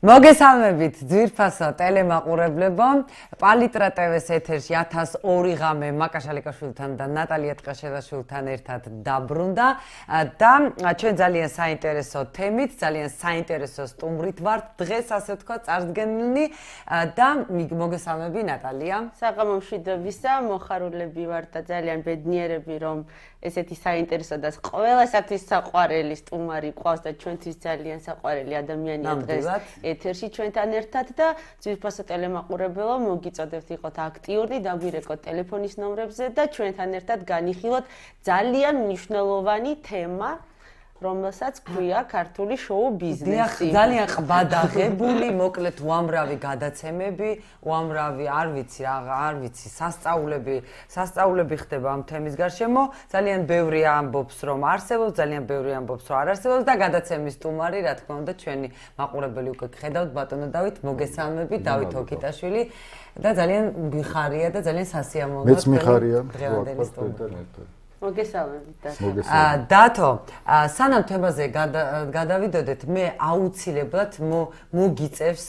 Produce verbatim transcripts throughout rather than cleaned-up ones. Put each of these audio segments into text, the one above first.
მოგესალმებით ძვირფასო ტელემაყურებლებო, პალიტრა ტევ-ის ეთერში ათას ორი ღამე მაკაშ ალიკაშვილთან და ნატალია ტყაშელაშვილთან ერთად დაბრუნდა და ჩვენ ძალიან საინტერესო თემით, ძალიან საინტერესო სტუმრით ვართ დღეს, ასე ვთქვა, წარსდგენლი და მოგესალმები ნატალია. საღამო მშვიდობისა, მოხარულები ვართ და ძალიან ბედნიერები, რომ ესეთი საინტერესო და ყველასათვის საყვარელი სტუმარი ყავს და ჩვენთვის ძალიან საყვარელი ადამიანია დღეს ეთერში ჩვენთან ერთად და ძვირფასო ტელემაყურებელო მოგიწოდებთ იყოთ აქტიური, დაგვირეკოთ ტელეფონის ნომრებზე და ჩვენთან ერთად განიხილოთ ძალიან მნიშვნელოვანი თემა, რომელსაც ქვია ქართული შოუ ბიზნესი. ძალიან ყბადაღებული, მოკლედ უამრავი გადაცემები, უამრავი არ ვიცი რა, არ ვიცი, სასწაულები, სასწაულები ხდება ამ თემის გარშემო. ძალიან ბევრი ამბობს, რომ არსებობს, ძალიან ბევრი ამბობს, რომ არ არსებობს და გადაცემის სტუმარი, რა თქმა უნდა, ჩვენი მაყურებელი უკვე გხედავთ, ბატონო დავით, მოგესალმები, დავით ოკიტაშვილი და ძალიან გიხარია და ძალიან სასიამოვნოა. მეც მიხარია, დღევანდელი სტუმარი. მოგესალმებით და დათო, სანამ თემაზე გადავიდოდეთ, მე აუცილებლად მოგიწევს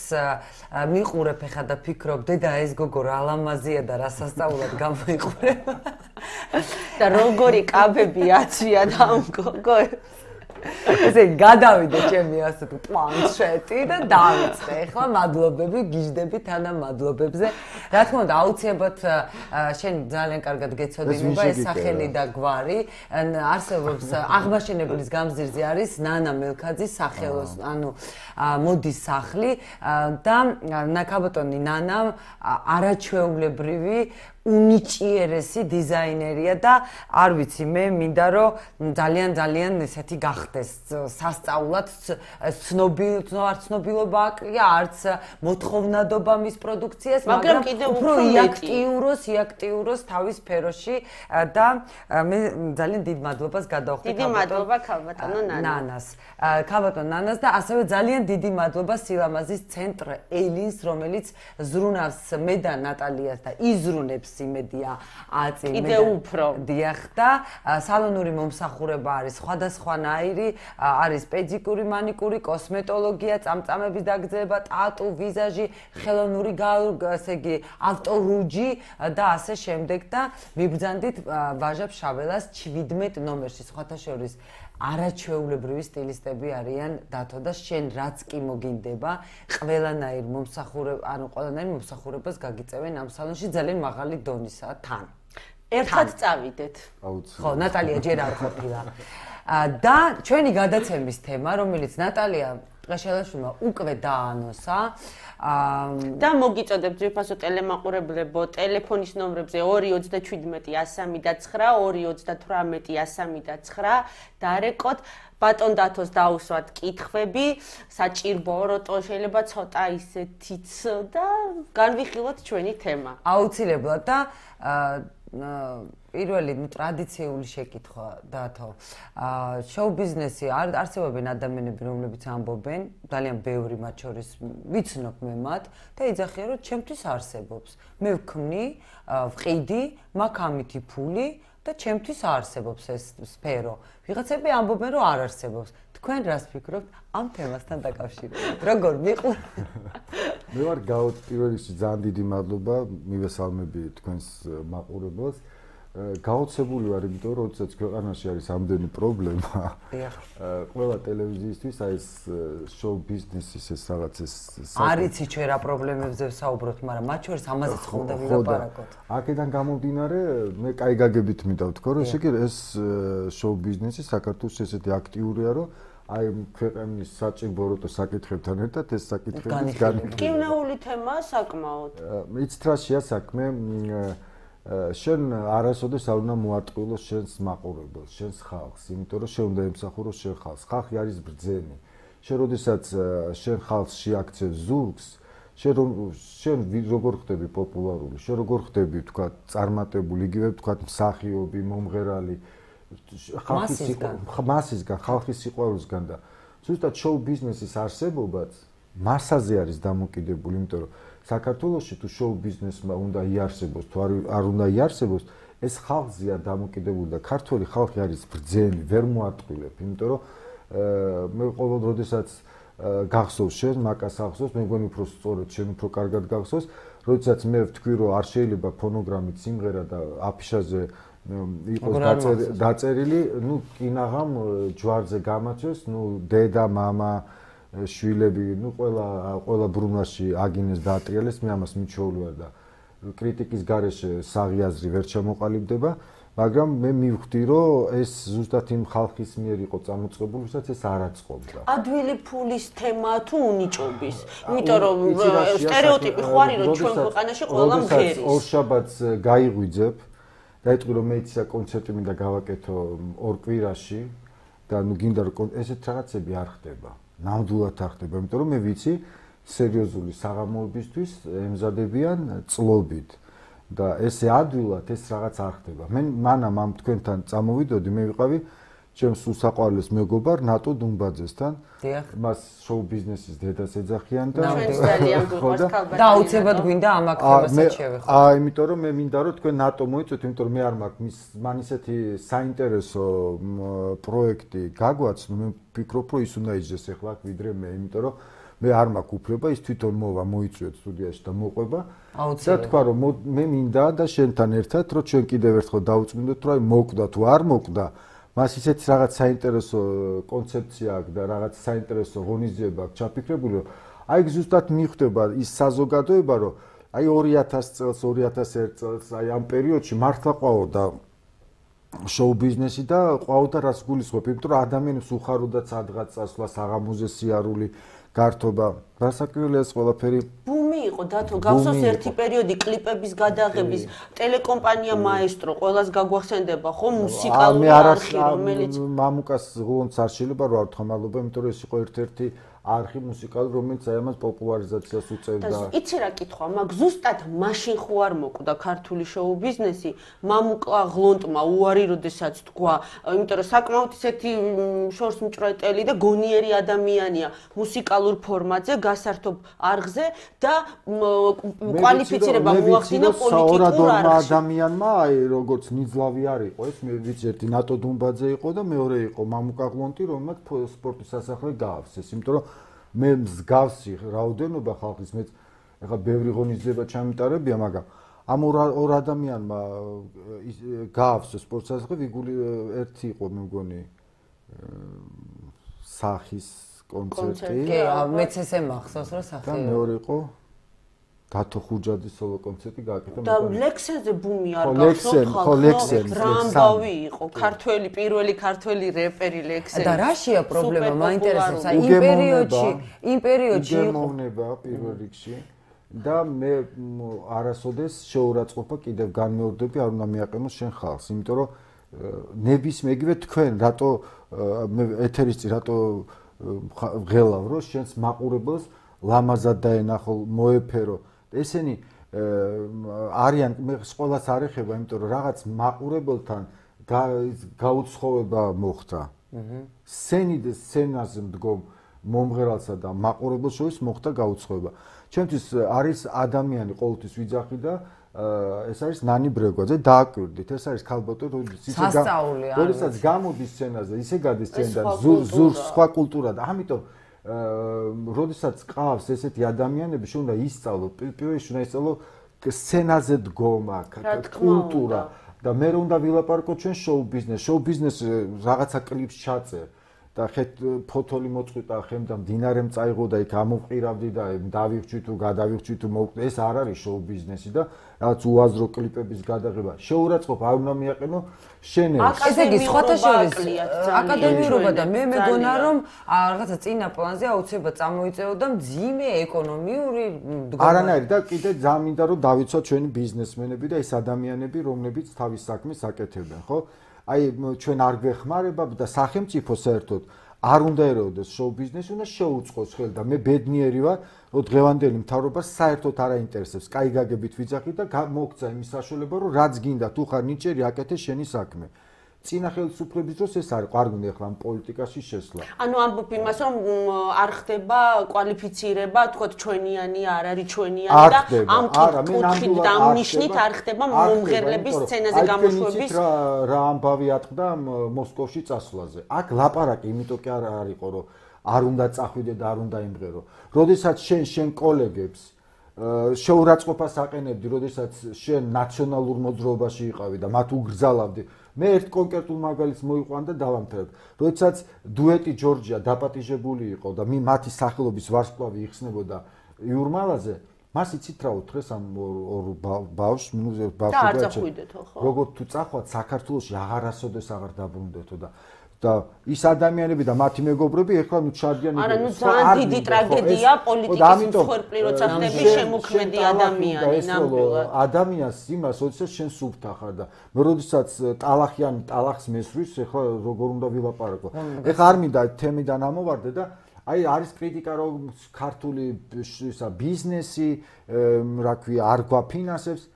მიყურებ ეხა და ფიქრობ, დედა ეს გოგო რა ლამაზია და რა სასწაულად გამოიყურება. და როგორი კაბები აცვია და ამ გოგოებს. ესე გადავიდე ჩემი ასე თუ პლანშეტი და დავიწყე. ეხლა მადლობები, გიждები თანამადლობებზე. რა თქმა უნდა, აუცილებლად შენ ძალიან კარგად გეცოდინება ეს სახელი და გვარი. არსებობს აღმაშენებლის გამზირზე არის ნანა მელქაძის სახელოს, ანუ მოდის სახლი და ნაკაბოტონი ნანა არაჩვეულებრივი უნიჭიერესი დიზაინერია და არ ვიცი მე მინდა რომ ძალიან ძალიან ესეთი გახდეს სასწაულად ცნობილ არ ცნობილობა აკლია არც მოთხოვნადობა მის პროდუქციას მაგრამ კიდევ უფრო იაქტიუროს იაქტიუროს თავის სფეროში და მე ძალიან დიდ მადლობას გადავხდი დიდი მადლობა ქალბატონო ნანას ქალბატონ ნანას და ასევე ძალიან დიდი მადლობა სილამაზის ცენტრ ელინს რომელიც ზრუნავს მე და ნატალიას და იზრუნებს იმედია აწი კიდე უფრო დიახ და სალონური მომსახურება არის სხვადასხვანაირი არის პედიკური მანიკური კოსმეტოლოგია წამწამების დაგრძელება ტატუ ვიზაჟი ხელოვნური ასე იგი ავტორუჯი და ასე შემდეგ და მიბრძანდით ვაჟა შაველას შვიდმეტ ნომერში სხვათა შორის არაჩვეულებრივი სტილისტები არიან დათო და შენ რაც კი მოგინდება ყველანაირ მომსახურებას ანუ ყველანაირ მომსახურებას გაგიწევენ ამ სალონში ძალიან მაღალი დონისაა თან ერთად წავიდეთ ხო ნატალია ჯერ არ ყოფილა და ჩვენი გადაცემის თემა რომელიც ნატალია ტყაშელაშვილმა უკვე დაანონსა და მოგიწოდებთ ძვირფასო ტელემაყურებლებო ტელეფონის ნომრებზე ორი ოცდაშვიდმეტი ასამი და ცხრა ორი ოცდათვრამეტი ასამი და ცხრა დარეკოთ ბატონ დათოს დაუსვათ კითხვები საჭიროა როტო შეიძლება ცოტა ისეთიც და განვიხილოთ ჩვენი თემა აუცილებლად და პირველი ტრადიციული შეკითხვა დათო შოუ ბიზნესი არსებობენ ადამიანები რომლებიც ამბობენ ძალიან ბევრი მათ შორის ვიცნობ მე მათ და იძახიან რომ ჩემთვის არსებობს მე ვქმნი ვყიდი მაქვს ამითი ფული და ჩემთვის არსებობს ეს სფერო ვიღაცები ამბობენ რომ არ არსებობს თქვენ რას ფიქრობთ ამ თემასთან დაკავშირებით როგორ მიყურებ მე ვარ გავთ პირველ რიგში ძალიან დიდი მადლობა მივესალმები თქვენს მაყურებელს გაოცებული ვარ იმიტომ რომ როდესაც ქვეყანაში არის ამდენი პრობლემა ყველა ტელევიზიისთვის აი ეს შოუ ბიზნესის ეს რაღაც ეს არიცი ჩვენ რა პრობლემებზე ვსაუბრობთ მაგრამ მათ შორის ამაზეც ხონდა ვილაპარაკოთ აქედან გამომდინარე მე კაი გაგებით მინდა ვთქვა რომ ესე იგი ეს შოუ ბიზნესი საქართველოს ესეთი აქტიურია რომ აი ქვეყნის საჭიროა საკითხებთან ერთად ეს საკითხები განიხილება კინოული თემაა საკმაოდ იცით რა შეა საქმე შენ არასოდეს არ უნდა მოარტყილოს შენს მაყურებელს, შენს ხალხს, იმიტომ რომ შენ უნდა ემსახუროს შენ ხალხს. ხალხი არის ბრძენი. შენ როდესაც შენ ხალხს შეაქცევ ზურგს, შენ შენ როგორ ხდები პოპულარული, შენ როგორ ხდები თქვა წარმატებული, იგივე თქვა მსახიობი, მომღერალი, ხალხის მასისგან, ხალხის სიყვარულისგან და ზუსტად შოუ ბიზნესის არსებობაც მასაზე არის დამოკიდებული, იმიტომ რომ საქართველოში თუ შოუ ბიზნესმა უნდა იარსებოს თუ არ უნდა იარსებოს ეს ხალხზეა დამოკიდებული და ქართველი ხალხი არის ბრძენი ვერ მოარტყილებ იმიტომ რომ მე ყოველ როდესაც გახსოვს შენ, მაკას ახსოვს, მე მგონი უფრო სწორად შენ უფრო კარგად გახსოვს, როდესაც მე ვთქვი რომ არ შეიძლება ფონოგრამით სიმღერა და აფიშაზე იყოს დაწერილი, ნუ კინაღამ ჯვარზე გამაწვეს, ნუ დედა, მამა, შვილები, ნუ ყველა ყველა ბრუნვაში აგინეს დაატრიალეს, მე ამას მიჩვეული ვარ და კრიტიკის გარეშე საღიაზრი ვერ ჩამოყალიბდება. მაგრამ მე მივხვდი რომ ეს ზუსტად იმ ხალხის მიერ იყო წამოწყებული, ვისაც ეს არ აწყობდა. ადვილი ფულის თემა თუ უნიჭობის? იმიტომ რომ სტერეოტიპი ხო არის რომ ჩვენ ქვეყანაში ყველა მღერის. ორშაბათს გაიღვიძებ და ეტყვი რომ მე იცი კონცერტი მინდა გავაკეთო ორ კვირაში და ნუ გინდა რომ ესეთ რაღაცები არ ხდება. ნამდვილად არ ხდება, იმიტომ რომ მე ვიცი სერიოზული საღამოებისთვის ემზადებიან წლობით. და ესე ადვილად ეს რაღაც არ ხდება. მე მანამ ამ თქვენთან წამოვიდოდი, მე ვიყავი ჩემს უსაყვარლეს მეგობარ ნატო დუმბაძესთან. მას შოუ ბიზნესის დედას ეძახიან და და აუცილებლად გვინდა ამ აქცევასაც შევეხო. აა, იმიტომ რომ მე მინდა რომ თქვენ ნატო მოიწვიოთ, იმიტომ რომ მე არ მაქვს მის მან ისეთი საინტერესო პროექტი გაგვაცნო, მე ვფიქრობ რომ ის უნდა იჯდეს ახლა აქ ვიდრე მე, იმიტომ რომ მე არ მაქვს უფლება ის თვითონ მოვა მოიწვიოთ სტუდიაში და მოყვება და თქვა რომ მე მინდა და შენთან ერთად რომ ჩვენ კიდევ ერთხელ დაუწმინდოთ რომ აი მოკვდა თუ არ მოკვდა მას ისეთი რაღაც საინტერესო კონცეფცია აქვს და რაღაც საინტერესო ღონისძიება აქვს ჩაფიქრებული რომ აი ზუსტად მიხვდება ის საზოგადოება რომ აი ორი ათას წელს ორი ათას ერთ წელს აი ამ პერიოდში მართლა ყვაოდა შოუ ბიზნესი და ყვაოდა რას გულისხმობ იმიტომ რომ ადამიანებს უხაროდა სადღაც წასვლა საღამოზე სიარული გართობა გასაკვირველია ეს ყველაფერი ბუმი იყო დათო გახსოვს ერთი პერიოდი კლიპების გადაღების ტელეკომპანია მაესტრო ყველას გაგვახსენდება ხო მუსიკალური არხი რომელიც მამუკას ღონც არ შეიძლება რო არ თამალობა იმიტომ რომ ეს იყო ერთ-ერთი არხი მუსიკალური რომელიც აი ამას პოპულარიზაციას უწევდა და იცი რა კითხვა მაგ ზუსტად მაშინ ხო არ მოკვდა ქართული შოუ ბიზნესი მამუკა ღლონტმა უარი როდესაც თქვა იმიტომ რომ საკმაოდ ისეთი შორს მჭრეტელი და გონიერი ადამიანია მუსიკალურ ფორმატზე გასართობ არხზე და კვალიფიცირება მოახდინა პოლიტიკურ არხში ადამიანმა აი როგორც ნიძლავი არ იყო ეს მე ვიცი ერთი ნატო დუმბაძე იყო და მეორე იყო მამუკა ღლონტი რომელმაც სპორტის სასახლე გაავსეს იმიტომ რომ მე მსგავსი რაოდენობა ხალხის მეც ეხლა ბევრი ღონისძიება ჩამიტარებია მაგრამ ამ ორ ადამიანმა გაავსეს სპორტის სასახლე ვიგული ერთი იყო მე მგონი სახის კონცერტი კი მეც ესე მახსოვს რომ სახი და მეორე იყო დათო ხუჯაძის სოლო კონცერტი გააკეთა და ლექსენზე ბუმი არ გახსოვთ ხო ლექსენ რამბავი იყო ქართველი პირველი ქართველი რეპერი ლექსენ და რაშია პრობლემა მაინტერესებს აი იმ პერიოდში იმ პერიოდში იყო მოვნება პირველ რიგში და მე არასოდეს შეურაცხყოფა კიდევ განმეორდები არ უნდა მიაყენოს შენ ხალხს იმიტომ რომ ნებისმიერ თქვენ რატო მე ეთერისწი რატო ღელავ რომ შენს მაყურებელს ლამაზად დაენახო მოეფერო ესენი არიან მე ყველას არ ეხება იმიტომ რომ რაღაც მაყურებელთან გაუცხოვება მოხდა სცენი და სცენაზე მდგომ მომღერალსა და მაყურებელს შორის მოხდა გაუცხოვება ჩემთვის არის ადამიანი ყოველთვის ვიძახი და ეს არის ნანი ბრეგვაძე დააკვირდით ეს არის ქალბატონი როდესაც გამოდის სცენაზე ისე გადის სცენიდან ზურს სხვა კულტურა და ამიტომ როდესაც ყავს ესეთი ადამიანები შეუნდა ისწავლო პირველში უნდა ისწავლო სცენაზე დგომა კულტურა და მე უნდა ვილაპარაკო ჩვენ შოუ ბიზნეს შოუ ბიზნეს რაღაცა კლიპს ჩაწერ და ხეთ ფოტოლი მოწყვიტა ხემ და მდინარემ წაიღო და იქ ამოვყირავდი და დავიხჩი თუ გადავიხჩი თუ მოვკვდი ეს არ არის შოუ ბიზნესი და რაღაც უაზრო კლიპების გადაღება შეურაცხყოფა არ უნდა მიაყენო შენელს ესე იგი სხვათა შორის აკადემიურობა და მე მეგონა რომ რაღაცა წინა პლანზე აუცილებლად წამოიწეოდა მძიმე ეკონომიური არანაირი და კიდე ძალიან მინდა რომ დავიცვათ ჩვენი ბიზნესმენები და ეს ადამიანები რომლებიც თავის საქმეს აკეთებენ ხო აი ჩვენ არ გვეხმარება და სახელმწიფო საერთოდ არ უნდა ერეოდეს შოუ ბიზნესი უნდა შეუწყოს ხელი და მე ბედნიერი ვარ რომ დღევანდელი მთავრობა საერთოდ არ აინტერესებს კაი გაგებით ვიძახი და მოგცა იმის საშუალება რომ რაც გინდა თუ ხარ ნიჭიერი აკეთე შენი საქმე წინა ხელისუფლების დროს ეს არ არ გვინდა ახლა პოლიტიკაში შესვლა. ანუ ამბობ იმას რომ არ ხდება კვალიფიცირება, თქოთ ჩვენიანი არ არის ჩვენიანი და ამ კუთხით და ამ ნიშნით არ ხდება მომღერლების სცენაზე გამოშვების რა ამბავი ატყდა მოსკოვში წასვლაზე. აქ ლაპარაკი იმიტომ კი არ არისო რომ არ უნდა წახვიდე და არ უნდა იმღერო. როდესაც შენ შენ კოლეგებს შეურაცხყოფას აყენებდი, როდესაც შენ ნაციონალურ მოძრაობაში იყავი და მათ უგრძალავდი. მე ერთ კონკრეტულ მაგალითს მოიყვან და დავამთავრებ. როდესაც დუეტი ჯორჯია დაპატიჟებული იყო და მათი სახელობის ვარსკვლავი იხსნებოდა იურმალაზე, მას იცით რა უთხრეს ამ ორ ბავშვს, ნუ ბავშვებს. როგორ თუ წახვათ საქართველოში აღარასოდეს აღარ დაბრუნდეთო და და ის ადამიანები და მათი მეგობრები ეხლა ნუ ჩარდიან არა ნუ ძალიან დიდი ტრაგედია პოლიტიკის მსხვერპლი როცა ხდები შემოქმედი ადამიანი ნამდვილად ადამიანს იმას როდესაც შენ სუფთა ხარ და მე როდესაც ტალახიანი ტალახს მესვრის ეხლა როგორ უნდა ვილაპარაკო ეხლა არ მინდა თემიდან ამოვარდე და აი არის კრიტიკა რომ ქართული ისა ბიზნესი რა ქვია არ გვაფინანსებს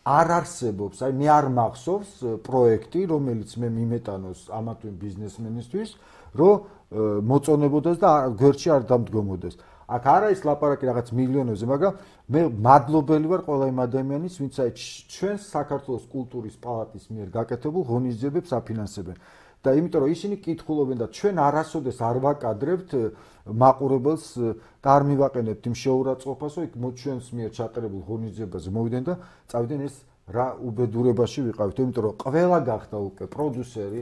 არ არსებობს, აი მე არ მახსოვს პროექტი, რომელიც მე მიმეტანოს ამა თუ იმ ბიზნესმენისთვის, რომ მოწონებოდეს და გვერდში არ დამდგომოდეს. აქ არა ის ლაპარაკი რაღაც მილიონებზე, მაგრამ მე მადლობელი ვარ ყველა იმ ადამიანის, ვინც აი ჩვენს საქართველოს კულტურის პალატის მიერ გაკეთებულ ღონისძიებებს აფინანსებენ. და იმიტომ რომ ისინი კითხულობენ და ჩვენ არასოდეს არ ვაკადრებთ მაყურებელს და არ მივაყენებთ იმ შეურაცხყოფას, რომ იქ ჩვენს მიერ ჩატარებულ ღონისძიებაზე მოვიდნენ და წავიდნენ ეს რა უბედურებაში ვიყავით, იმიტომ რომ ყველა გახდა უკვე პროდიუსერი,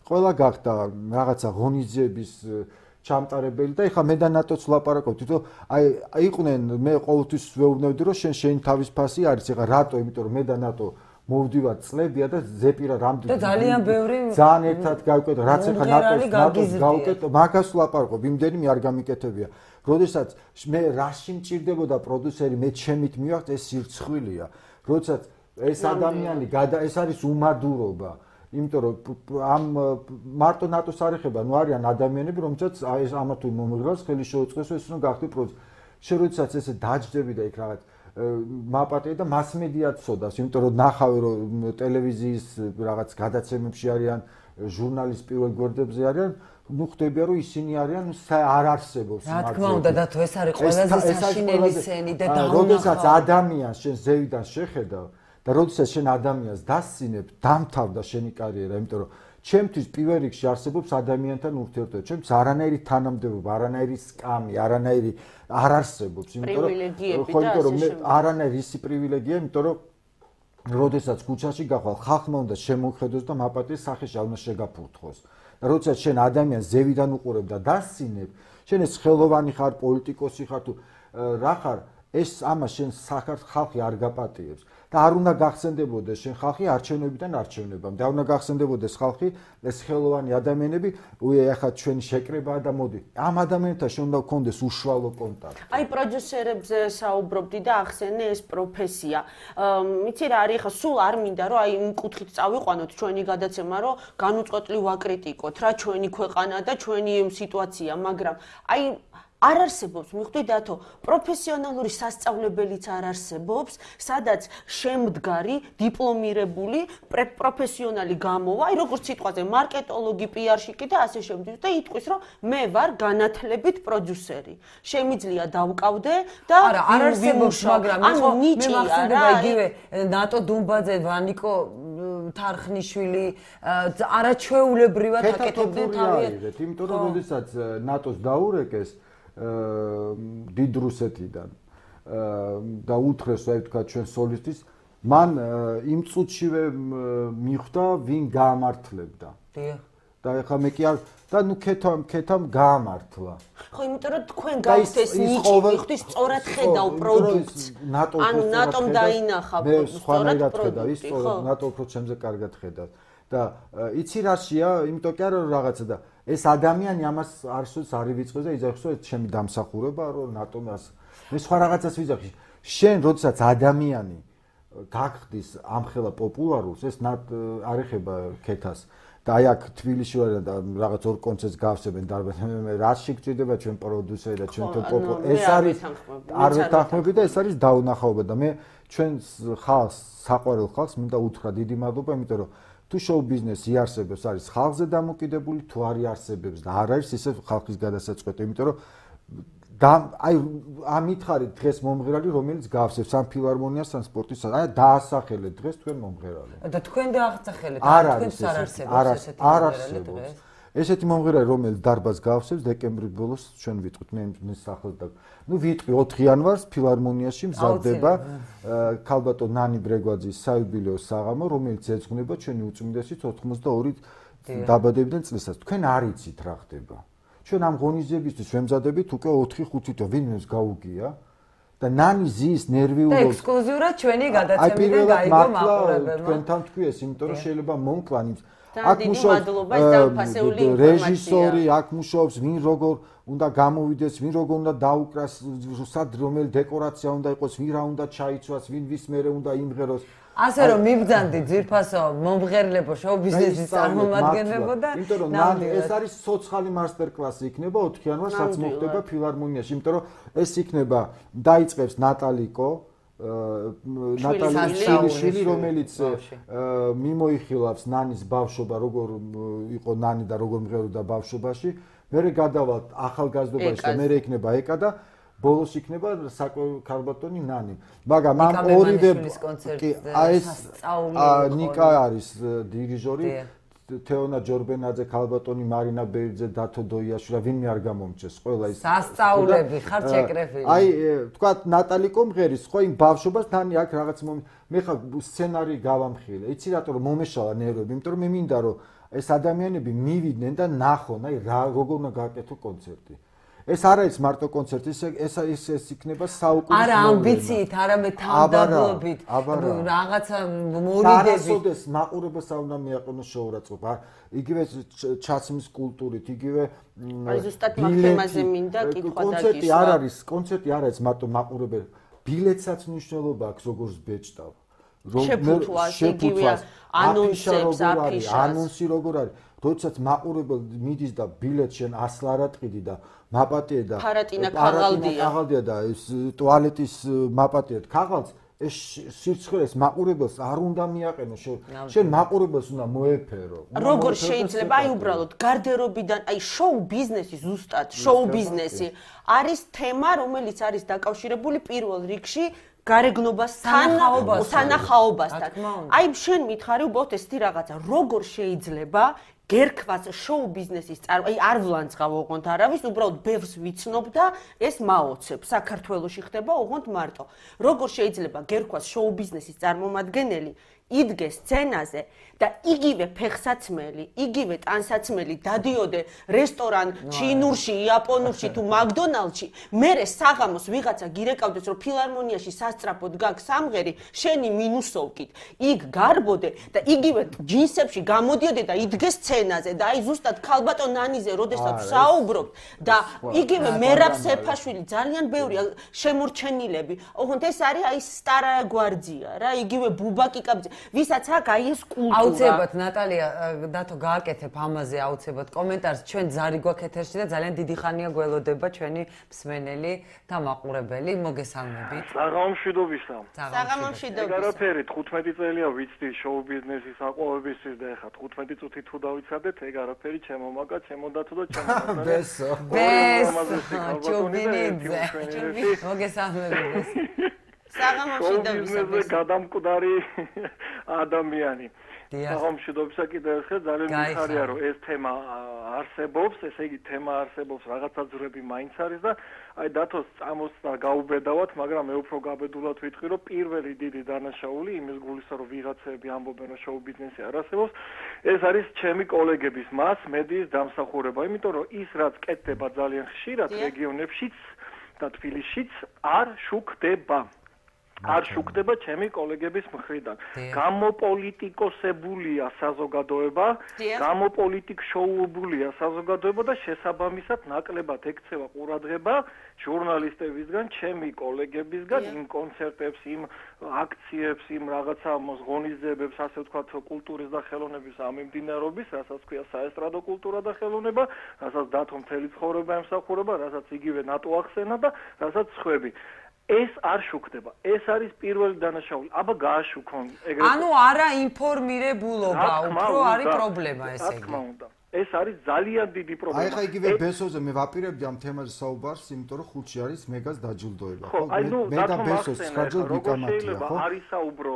ყველა გახდა რაღაცა ღონისძიების ჩამტარებელი და ეხლა მე და ნატოც ვლაპარაკობთ, რომ აი იყვნენ მე ყოველთვის ვეუბნებდი რომ შენ შენ თავის ფასი არის, ეხლა რატო, იმიტომ რომ მე და ნატო მოვდივარ წლებია და ზეპირა რამდენი და ძალიან ბევრი ძალიან ერთად გავკეთე რაც ახლა ნატოს ნატოს გავკეთე მაგას ვლაპარაკობ იმდენი მე არ გამიკეთებია როდესაც მე რაში მჭირდებოდა პროდიუსერი მე ჩემით მივახთ ეს სირცხვილია როდესაც ეს ადამიანი ეს არის უმადურობა იმიტომ რომ ამ მარტო ნატოს არ ეხება ნუ არიან ადამიანები რომელსაც ეს ამა თუ მომღრალს ხელი შეუწყეს ეს რომ გახდე პროდიუსერი შე როდესაც ესე დაჯდები და იქ რაღაც მაპატე და მასმედიაც ცოდავს, იმიტომ რომ ნახავე რომ ტელევიზიის რაღაც გადაცემებში არიან, ჟურნალის პირველ გვერდებზე არიან, ნუ ხდებია რომ ისინი არიან არ არსებობს მაგ. რა თქმა უნდა და თუ ეს არის ყველაზე საშინელი სცენი და დაუნახავ. როდესაც ადამიანს შენ ზევიდან შეხედავ და როდესაც შენ ადამიანს დასცინებ, დამთავრდა შენი კარიერა, იმიტომ რომ ჩემთვის პირველ რიგში არსებობს ადამიანთან ურთიერთობა. ჩემთვის არანაირი თანამდებობა, არანაირი სკამი, არანაირი არ არსებობს, იმიტომ რომ მე არანაირი ისი პრივილეგია, იმიტომ რომ როდესაც ქუჩაში გახვალ, ხალხმა უნდა შემოხედოს და მაპატიეს სახეში არ უნდა შეგაფურთხოს. და როდესაც შენ ადამიანს ზევიდან უყურებ და დასცინებ, შენ ეს ხელოვანი ხარ, პოლიტიკოსი ხარ თუ რა ხარ, ეს ამას შენ ხალხი არ გაპატიებს. და არ უნდა გახსენდებოდეს შენ ხალხი არჩევნებიდან არჩევნებამ და არ უნდა გახსენდებოდეს ხალხი ეს ხელოვანი ადამიანები უე ახლა ჩვენი შეკრებაა და მოდი ამ ადამიანთან შენ უნდა გქონდეს უშუალო კონტაქტი აი პროდიუსერებზე საუბრობდი და ახსენე ეს პროფესია იცი რა არის ახლა სულ არ მინდა რომ აი იმ კუთხით წავიყვანოთ ჩვენი გადაცემა რომ განუწყვეტლი ვაკრიტიკოთ რა ჩვენი ქვეყანა და ჩვენი სიტუაცია მაგრამ აი არ არსებობს, მიხვდი დათო, პროფესიონალური სასწავლებელიც არ არსებობს, სადაც შემდგარი, დიპლომირებული პროფესიონალი გამოვა, აი როგორც სიტყვაზე, მარკეტოლოგი, პიარщики და ასე შემდეგ და იტყვის, რომ მე ვარ განათლებით პროდიუსერი. შემიძლია დავკავდე და არა, არ არსებობს, მაგრამ ანუ ნიჭი მე მახსენდება იგივე ნატო დუმბაძე, ვანიკო თარხნიშვილი არაჩვეულებრივად აკეთებდნენ თავიანთ. იმიტომ რომ როდესაც ნატოს დაურეკეს დიდ რუსეთიდან და უთხრეს აი თქვა ჩვენ სოლისტის მან იმ წუთშივე მიხვდა ვინ გაამართლებდა. დიახ. და ეხლა მე კი არ და ნუ ქეთამ ქეთამ გაამართლა. ხო, იმიტომ რომ თქვენ გაქვთ ეს ნიჭი, მიხვდი სწორად ხედავ პროდუქტს. ანუ ნატომ დაინახა სწორად ხედავ, ის სწორად ნატო უფრო ჩემზე კარგად ხედავს. და იცი რაშია, იმიტომ კი არა რომ რაღაცა და ეს ადამიანი ამას არასოდეს არ ივიწყებს და იძახს რომ ჩემი დამსახურება რომ ნატომას მე სხვა რაღაცას ვიძახი. შენ როდესაც ადამიანი გახდის ამხელა პოპულარულს, ეს არ ეხება ქეთას. და აი აქ თბილისში ვარ და რაღაც ორ კონცერტს გავსებენ დარბაზში. მე რაში გჭირდება ჩვენ პროდიუსერი და ჩვენ პოპულარ ეს არის არ ვეთანხმები და ეს არის დაუნახაობა და მე ჩვენ ხალხს, საყვარელ ხალხს მინდა უთხრა დიდი მადლობა, იმიტომ რომ თუ შოუ ბიზნესი იარსებებს არის ხალხზე დამოკიდებული, თუ არ იარსებებს და არ არის ისე ხალხის გადასაწყვეტი, იმიტომ რომ და აი ამითხარით დღეს მომღერალი რომელიც გავსებს ამ ფილარმონიას ან სპორტის აი დაასახელეთ დღეს თქვენ მომღერალი და თქვენ დაახსახელეთ არ არის არ არსებობს ესეთი მომღერალი, რომელიც დარბაზს გავსებს დეკემბრის ბოლოს ჩვენ ვიტყვით მე მის სახელს და ნუ ვიტყვი ოთხ იანვარს ფილარმონიაში მზადდება ქალბატონ ნანი ბრეგვაძის საიუბილეო საღამო, რომელიც ეძღვნება ჩვენი უწმინდესის ოთხმოცდაორი დაბადებიდან წლისას. თქვენ არ იცით რა ხდება. ჩვენ ამ ღონისძიებისთვის ვემზადებით უკვე ოთხი ხუთი თვე ვინმეს გაუგია და ნანი ზის ნერვიულობს. და ექსკლუზიურად ჩვენი გადაცემიდან გაიგო მაყურებელმა. თქვენთან თქვი ეს, იმიტომ რომ შეიძლება მომკლან იმ აქ მუშაობს რეჟისორი, აქ მუშაობს ვინ როგორ უნდა გამოვიდეს, ვინ როგორ უნდა დაუკრას, სად რომელი დეკორაცია უნდა იყოს, ვინ რა უნდა ჩაიცვას, ვინ ვის მერე უნდა იმღეროს. ასე რომ მიბძანდი ძირფასო მომღერლებო შოუ ბიზნესის წარმომადგენლებო და იმიტომ რომ ეს არის სოციალური მასტერკლასი იქნება ოთხ იანვარს რაც მოხდება ფილარმონიაში, იმიტომ რომ ეს იქნება დაიწყებს ნატალიკო ნატალი შვილი, რომელიც მიმოიხილავს ნანის ბავშვობა, როგორ იყო ნანი და როგორ მღეროდა ბავშვობაში, მერე გადავალთ ახალგაზრდობაში და მერე იქნება ეკა და ბოლოს იქნება ქალბატონი ნანი. მაგრამ ამ ორივე აი ეს ნიკა არის დირიჟორი, თეონა ჯორბენაძე, ქალბატონი მარინა ბერძე, დათო დოიაშვილი, ვინმე არ გამომჩეს, ყველა ის სასწაულები ხარ შეკრეფილი. აი, თქვა ნატალი კომღერის, ხო იმ ბავშვობას თანი აქ რაღაც მე ხა სცენარი გავამხილე. იცი რატო რომ მომეშალა ნერვები, იმიტომ რომ მე მინდა რომ ეს ადამიანები მივიდნენ და ნახონ, აი რა როგორ უნდა გააკეთო კონცერტი. ეს არ არის მარტო კონცერტი, ეს ეს ეს იქნება საუკუნის არა ამბიციით, არამედ თანდაბრობით, რაღაცა მორიდებით. არასოდეს მაყურებელს არ უნდა მიაყენოს შოურაცხყოფა. იგივე ჩაცმის კულტურით, იგივე აი ზუსტად მაგ თემაზე მინდა კითხვა დაგისვა. კონცერტი არ არის, კონცერტი არ არის მარტო მაყურებელი. ბილეთსაც მნიშვნელობა აქვს როგორც ბეჭდავ. შეფუთვას, იგივე ანონსებს, აფიშას. ანონსი როგორ არის? როდესაც მაყურებელი მიდის და ბილეთს შენ ასლ არ ატყიდი და მაპატიე და ფარატინა ქაღალდია. ქაღალდია და ეს ტუალეტის მაპატიეთ ქაღალდს ეს სიცხეს მაყურებელს არ უნდა მიაყენო შენ მაყურებელს უნდა მოეფერო. როგორ შეიძლება აი უბრალოდ გარდერობიდან აი შოუ ბიზნესი ზუსტად შოუ ბიზნესი არის თემა რომელიც არის დაკავშირებული პირველ რიგში გარეგნობასთან, სანახაობასთან. აი შენ მითხარი უბრალოდ ესეთი რაღაცა როგორ შეიძლება გერქვას შოუ ბიზნესის წარ აი არ ვლანძღავ ოღონდ არავის უბრალოდ ბევრს ვიცნობ და ეს მაოცებ საქართველოში ხდება ოღონდ მარტო როგორ შეიძლება გერქვას შოუ ბიზნესის წარმომადგენელი იდგეს სცენაზე და იგივე ფეხსაცმელი, იგივე ტანსაცმელი დადიოდე რესტორან ჩინურში, იაპონურში თუ მაკდონალდში, მერე საღამოს ვიღაცა გირეკავდეს რომ ფილარმონიაში სასწრაფოდ გაქვს სამღერი, შენი მინუსოვკით. იქ გარბოდე და იგივე ჯინსებში გამოდიოდე და იდგეს სცენაზე და აი ზუსტად ქალბატონ ნანიზე როდესაც საუბრობთ და იგივე მერაბ სეფაშვილი ძალიან ბევრია შემორჩენილები. ოღონდ ეს არის აი სტარა გვარდია რა, იგივე ბუბა კიკაბძე, ვისაც აქ აი ეს კულტურა აუცილებლად ნატალია დათო გააკეთებ ამაზე აუცილებლად კომენტარს ჩვენ ზარი გვაქვს ეთერში და ძალიან დიდი ხანია გველოდება ჩვენი მსმენელი და მაყურებელი მოგესალმებით. საღამომშვიდობისა. საღამომშვიდობისა. ეგარაფერი თხუთმეტი წელია ვიცდი შოუ ბიზნესის აყვავებისთვის და ეხლა თხუთმეტი წუთი თუ დავიცადეთ ეგარაფერი ჩემო მაგა ჩემო დათო და ჩემო დათო. ბესო. ბესო. ჩუბინიძე. მოგესალმებით. საღამომშვიდობისა. გადამკვდარი ადამიანი. საღამომშვიდობისა კიდევ ერთხელ ძალიან მიხარია რომ ეს თემა არსებობს, ესე იგი თემა არსებობს, რაღაცა ძვრები მაინც არის და აი დათოს წამოს და გაუბედავთ, მაგრამ მე უფრო გაბედულად ვიტყვი რომ პირველი დიდი დანაშაული იმის გულისა რომ ვიღაცები ამბობენ რომ შოუ ბიზნესი არ არსებობს, ეს არის ჩემი კოლეგების მას მედიის დამსახურება, იმიტომ რომ ის რაც კეთდება ძალიან ხშირად რეგიონებშიც და თბილისშიც არ შუქდება. არ შუქდება ჩემი კოლეგების მხრიდან. გამოპოლიტიკოსებულია საზოგადოება, გამოპოლიტიკშოუებულია საზოგადოება და შესაბამისად ნაკლებად ექცევა ყურადღება ჟურნალისტებისგან, ჩემი კოლეგებისგან იმ კონცერტებს, იმ აქციებს, იმ რაღაცა ღონისძიებებს, ასე ვთქვათ, კულტურის და ხელოვნების ამემდინარობის, რასაც ქვია საესტრადო კულტურა და ხელოვნება, რასაც დათო მთელი ცხოვრება ემსახურება, რასაც იგივე ნატო ახსენა და რასაც სხვები. ეს არ შუქდება. ეს არის პირველი დანაშაული. აბა გააშუქონ ეგრეთ. ანუ არა ინფორმირებულობა, უფრო არის პრობლემა ესე იგი. რა თქმა უნდა. ეს არის ძალიან დიდი პრობლემა. აი ხა იგივე ბესოზე მე ვაპირებდი ამ თემაზე საუბარს, იმიტომ რომ ხუთში არის მეგას დაჯილდოება, ხო? მე და ბესოს სკაჯოლ ვიკამათია, ხო? არის საუბრო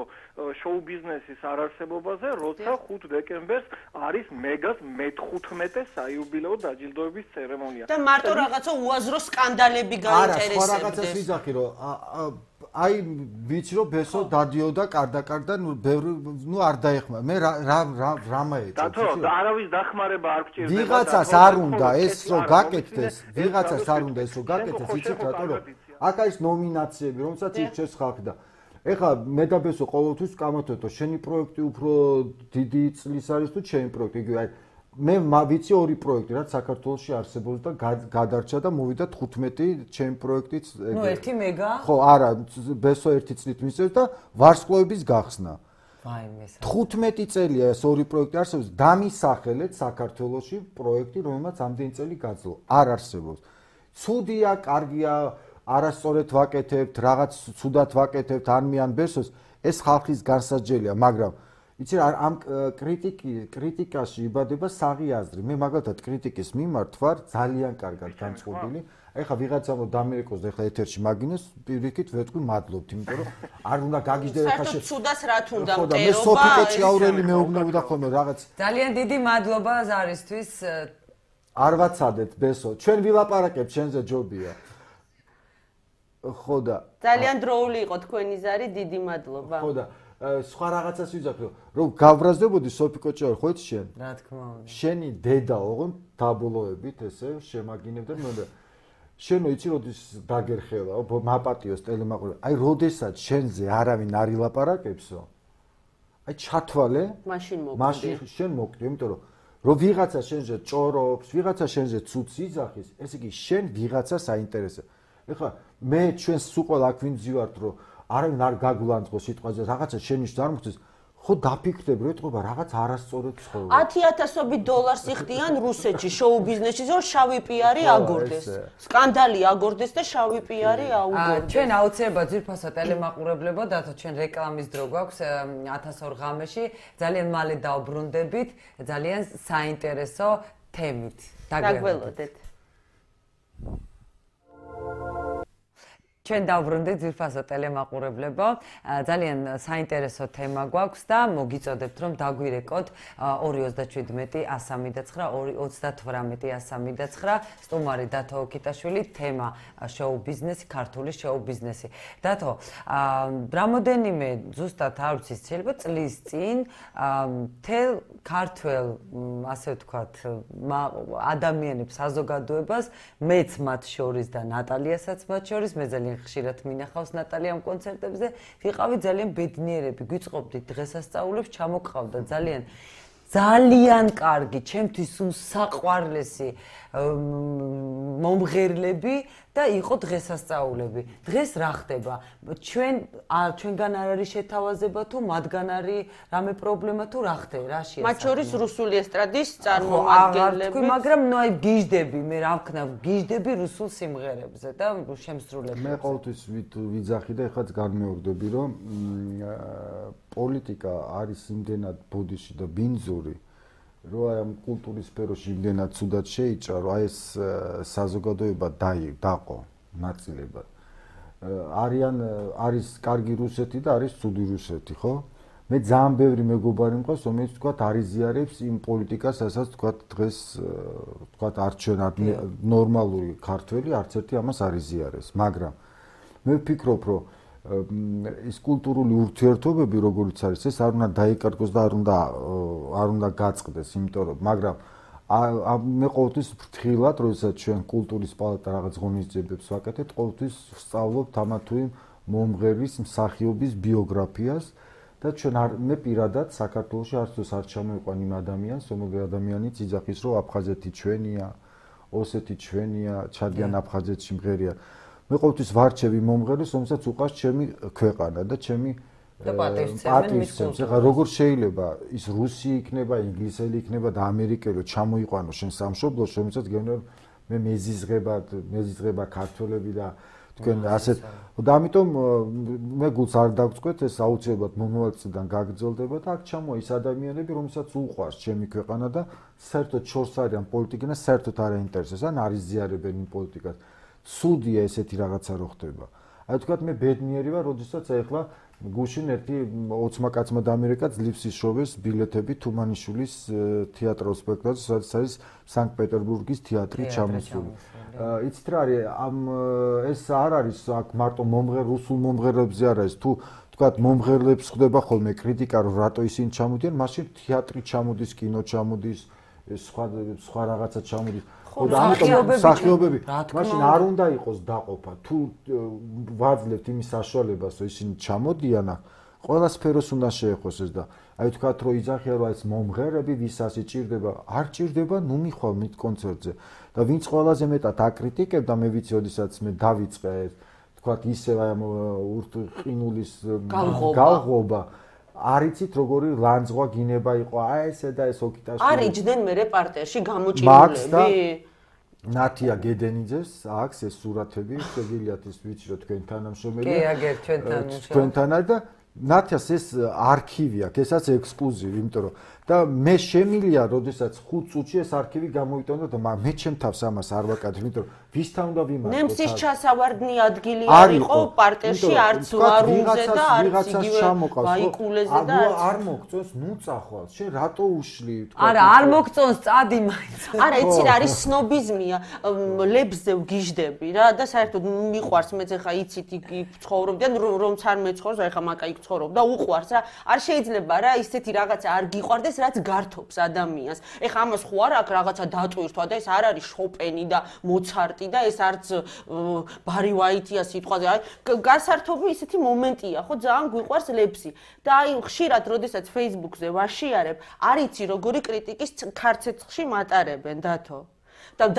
შოუ ბიზნესის არარსებობაზე, როცა ხუთი დეკემბერს არის მეგას მეთხუთმეტე საიუბილეო დაჯილდოების ცერემონია. და მარტო რაღაცა უაზრო სკანდალები გაინტერესებდეს. არა, სხვა რაღაცას ვიძახი, რომ აი ვიცი რომ ბესო დადიოდა კარდაკარდა, ნუ ბევრი ნუ არ დაეხმა. მე რა რა რა მაეჭო. დათო, არავის დახმარება არ გჭირდება. ვიღაცას არ უნდა ეს რომ გაკეთდეს, ვიღაცას არ უნდა ეს რომ გაკეთდეს, იცით რატო რომ აქ არის ნომინაციები, რომელსაც ირჩევს ხალხი და ეხლა მე და ბესო ყოველთვის კამათოთო, შენი პროექტი უფრო დიდი წლის არის თუ ჩემი პროექტი, იგივე აი მე ვიცი ორი პროექტი, რაც საქართველოში არსებობს და გადარჩა და მოვიდა თხუთმეტი ჩემი პროექტიც. ნუ ერთი მეგა? ხო, არა, ბესო ერთი წლით მისცემს და ვარსკვლავების გახსნა. ვაიმე. თხუთმეტი წელია ეს ორი პროექტი არსებობს, დამისახელეთ საქართველოში პროექტი, რომელმაც ამდენი წელი გაძლო. არ არსებობს. ცუდია, კარგია, არასწორად ვაკეთებთ, რაღაც ცუდად ვაკეთებთ, ან მე ან ბესოს, ეს ხალხის განსაჯელია, მაგრამ იცი რა ამ კრიტიკი კრიტიკაში იბადება საღი აზრი. მე მაგალითად კრიტიკის მიმართ ვარ ძალიან კარგად განწყობილი. აი ხა ვიღაცამ რომ დამერეკოს და ეხლა ეთერში მაგინეს პირიქით ვეთქვი მადლობთ, იმიტომ რომ არ უნდა გაგიჟდე ხა შე ცუდას რა თუნდა მტერობა. ხო და მე სოფიკო ჭიაურელი მეუბნებოდა ხოლმე რაღაც. ძალიან დიდი მადლობა ზარისთვის. არ ვაცადეთ ბესო, ჩვენ ვილაპარაკებთ, შენზე ჯობია. ხო და ძალიან დროული იყო თქვენი ზარი, დიდი მადლობა. ხო და სხვა რაღაცას ვიძახი რომ გავბრაზდებოდი სოფიკო ჭიაური ხო იცი შენ? რა თქმა უნდა. შენი დედა ოღონ დაბოლოებით ესე შემაგინებდა მე და შენო იცი როდის დაგერხელა მაპატიოს ტელემაყურებელი აი როდესაც შენზე არავინ არ ილაპარაკებსო აი ჩათვალე მაშინ მოკვდი მაშინ შენ მოკვდი იმიტომ რომ რომ ვიღაცა შენზე ჭორობს ვიღაცა შენზე ცუცს იძახის ესე იგი შენ ვიღაცას აინტერესებს ეხლა მე ჩვენს სულ ყველა აქ ვინ ძივართ რომ არავინ არ გაგულანძღო სიტყვაზე რაღაცა შენიშნ არ მოხდეს ხო დაფიქრდები რომ ეთქობა რაღაც არასწორად ცხოვრობ ათი ათასობით დოლარს იხდიან რუსეთში შოუ ბიზნესში რომ შავი პიარი აგორდეს სკანდალი აგორდეს და შავი პიარი აუგორდეს ჩვენ აუცილებლად ძირფასო ტელემაყურებლებო დათო ჩვენ რეკლამის დრო გვაქვს ათას ორ ღამეში ძალიან მალე დავბრუნდებით ძალიან საინტერესო თემით დაგველოდეთ ჩვენ დავბრუნდით ძირფასო ტელემაყურებლებო ძალიან საინტერესო თემა გვაქვს და მოგიწოდებთ რომ დაგვირეკოთ ორი ოცდაშვიდმეტი ასი სამოცდაცხრა ორი ოცდათვრამეტი ასი სამოცდაცხრა სტუმარი დათო ოკიტაშვილი თემა შოუ ბიზნესი ქართული შოუ ბიზნესი დათო რამოდენიმე ზუსტად არ ვიცი შეიძლება წლის წინ თელ ქართველ ასე ვთქვათ ადამიანებს საზოგადოებას მეც მათ შორის და ნატალიასაც მათ შორის მე ძალიან ხშირად მინახავს ნატალიამ კონცერტებზე ვიყავი ძალიან ბედნიერები გვიწყობდით დღესასწაულებს ჩამოყავდა ძალიან ძალიან კარგი ჩემთვის საყვარლესი მომღერლები და იყო დღესასწაულები დღეს რა ხდება ჩვენ ჩვენგან არ არის შეთავაზება თუ მათგან არის რამე პრობლემა თუ რა ხდება რაშია მათ შორის რუსული ესტრადის წარმომადგენლები მაგრამ ნუ აი გიждები მე რა ვქნა გიждები რუსულ სიმღერებზე და შემსრულებლებზე მე ყოველთვის ვიძახი და ეხლაც განმეორდები რომ პოლიტიკა არის იმდენად ბოდიში და ბინძური რომ აი ამ კულტურის სფეროში იმდენად ცუდად შეიჭრა რომ აი ეს საზოგადოება დაყო ნაწილებად არიან არის კარგი რუსეთი და არის ცუდი რუსეთი ხო მე ძალიან ბევრი მეგობარი მყავს რომელიც თქვა არიზიარებს იმ პოლიტიკას რასაც თქვა დღეს თქვა არ ჩვენ ნორმალური ქართველი არც ერთი ამას არიზიარებს მაგრამ მე ვფიქრობ რომ ის კულტურული ურთიერთობები როგორც არის ეს არ უნდა დაიკარგოს და არ უნდა არ უნდა გაწყდეს იმიტომ რომ მაგრამ მე ყოველთვის ფრთხილად როდესაც ჩვენ კულტურის პალატა რაღაც ღონისძიებებს ვაკეთებთ ყოველთვის ვსწავლობთ ამა თუ იმ მომღერლის მსახიობის ბიოგრაფიას და ჩვენ არ მე პირადად საქართველოში არც არ ჩამოვიყვან იმ ადამიანს რომელი ადამიანიც იძახის რომ აფხაზეთი ჩვენია ოსეთი ჩვენია ჩადიან აფხაზეთში მღერია მე ყოველთვის ვარჩევი მომღერლს, რომელსაც უყავს ჩემი ქვეყანა და ჩემი პატივისცემს. ეხლა როგორ შეიძლება ის რუსი იქნება, ინგლისელი იქნება და ამერიკელი ჩამოიყვანო შენ სამშობლოში, რომელსაც გეუბნები მე მეზიზღება, მეზიზღება ქართველები და თქვენ ასეთ და ამიტომ მე გულს არ დაგწყვეტ ეს აუცილებლად მომავალწლიდან გაგრძელდება და აქ ჩამოა ის ადამიანები რომელსაც უყვარს ჩემი ქვეყანა და საერთოდ შორს არიან პოლიტიკა და საერთოდ არ აინტერესებს ან არ იზიარებენ იმ პოლიტიკას ცუდია ესეთი რაღაცა რო ხდება აი თქვათ მე ბედნიერი ვარ როდესაც ახლა გუშინ ერთი ოცმა კაცმა და ამერიკა ძლივს იშოვეს ბილეთები თუმანიშვილის თეატრალურ სპექტაკლს სადაც არის სანქტ-პეტერბურგის თეატრი ჩამოსული იცით რა არის ამ ეს არ არის აქ მარტო მომღერ რუსულ მომღერლებზე არ არის თუ თქვათ მომღერლებს ხდება ხოლმე კრიტიკა რომ რატო ისინი ჩამოდიან მაშინ თეატრი ჩამოდის კინო ჩამოდის სხვა სხვა რაღაცა ჩამოდის და ამიტომ სახიობები მაშინ არ უნდა იყოს დაყოფა თუ ვაძლევთ იმის საშუალებას რომ ისინი ჩამოდიან ყველა სფეროს უნდა შეეხოს ეს და აი თქვათ რომ იძახია რომ ეს მომღერლები ვისაც იჭირდება არ ჭირდება ნუ მიხვალ მით კონცერტზე და ვინც ყველაზე მეტად აკრიტიკებდა მე ვიცი ოდესაც მე დავიწყე თქვათ ისევ აი ურტყინულის გალღობა არიცით როგორი ლანძღვა გინება იყო აი ესე და ეს ოკიტაშვილი არ იჯდნენ მე რეპორტერში გამოჭირულები ნათია გედენიძეს აქვს ეს სურათები შეგიძლიათ ის ვიცი რომ თქვენ თანამშრომელია კი აგერ ჩვენთან ჩვენთან არის და ნათიას ეს არქივი აქვს ესაც ექსკლუზივი იმიტომ რომ და მე შემილია როდესაც ხუთ წუთში ეს არქივი გამოვიტანო და მე ჩემ თავს ამას არ ვაკადრ იმიტომ რომ ვისთან უნდა ვიმართო ნემსის ჩასავარდნი ადგილი არ იყო პარტერში არც ვარუნზე და არც იგივე ბაიკულეზე და არც არ მოგწონს ნუ წახვალ შენ რატო უშლი თქვა არა არ მოგწონს წადი მაინც არა იცი რა არის სნობიზმია ლებზე ვგიჟდები რა და საერთოდ მიყვარს მეც ახლა იცით იქ ცხოვრობდი ან რომც არ მეცხოვრს ახლა მაკა იქ ცხოვრობ და უყვარს რა არ შეიძლება რა ისეთი რაღაცა არ გიყვარდეს რაც გართობს ადამიანს. ეხა ამას ხო არა აქ რაღაცა დატვირთვა და ეს არ არის შოპენი და მოცარტი და ეს არც ბარი ვაიტია სიტყვაზე. აი გასართობი ისეთი მომენტია, ხო ძალიან გვიყვარს ლეფსი. და აი ხშირად როდესაც Facebook-ზე ვაშიარებ, არ იცი როგორი კრიტიკის ქარცეცხლში მატარებენ დათო. და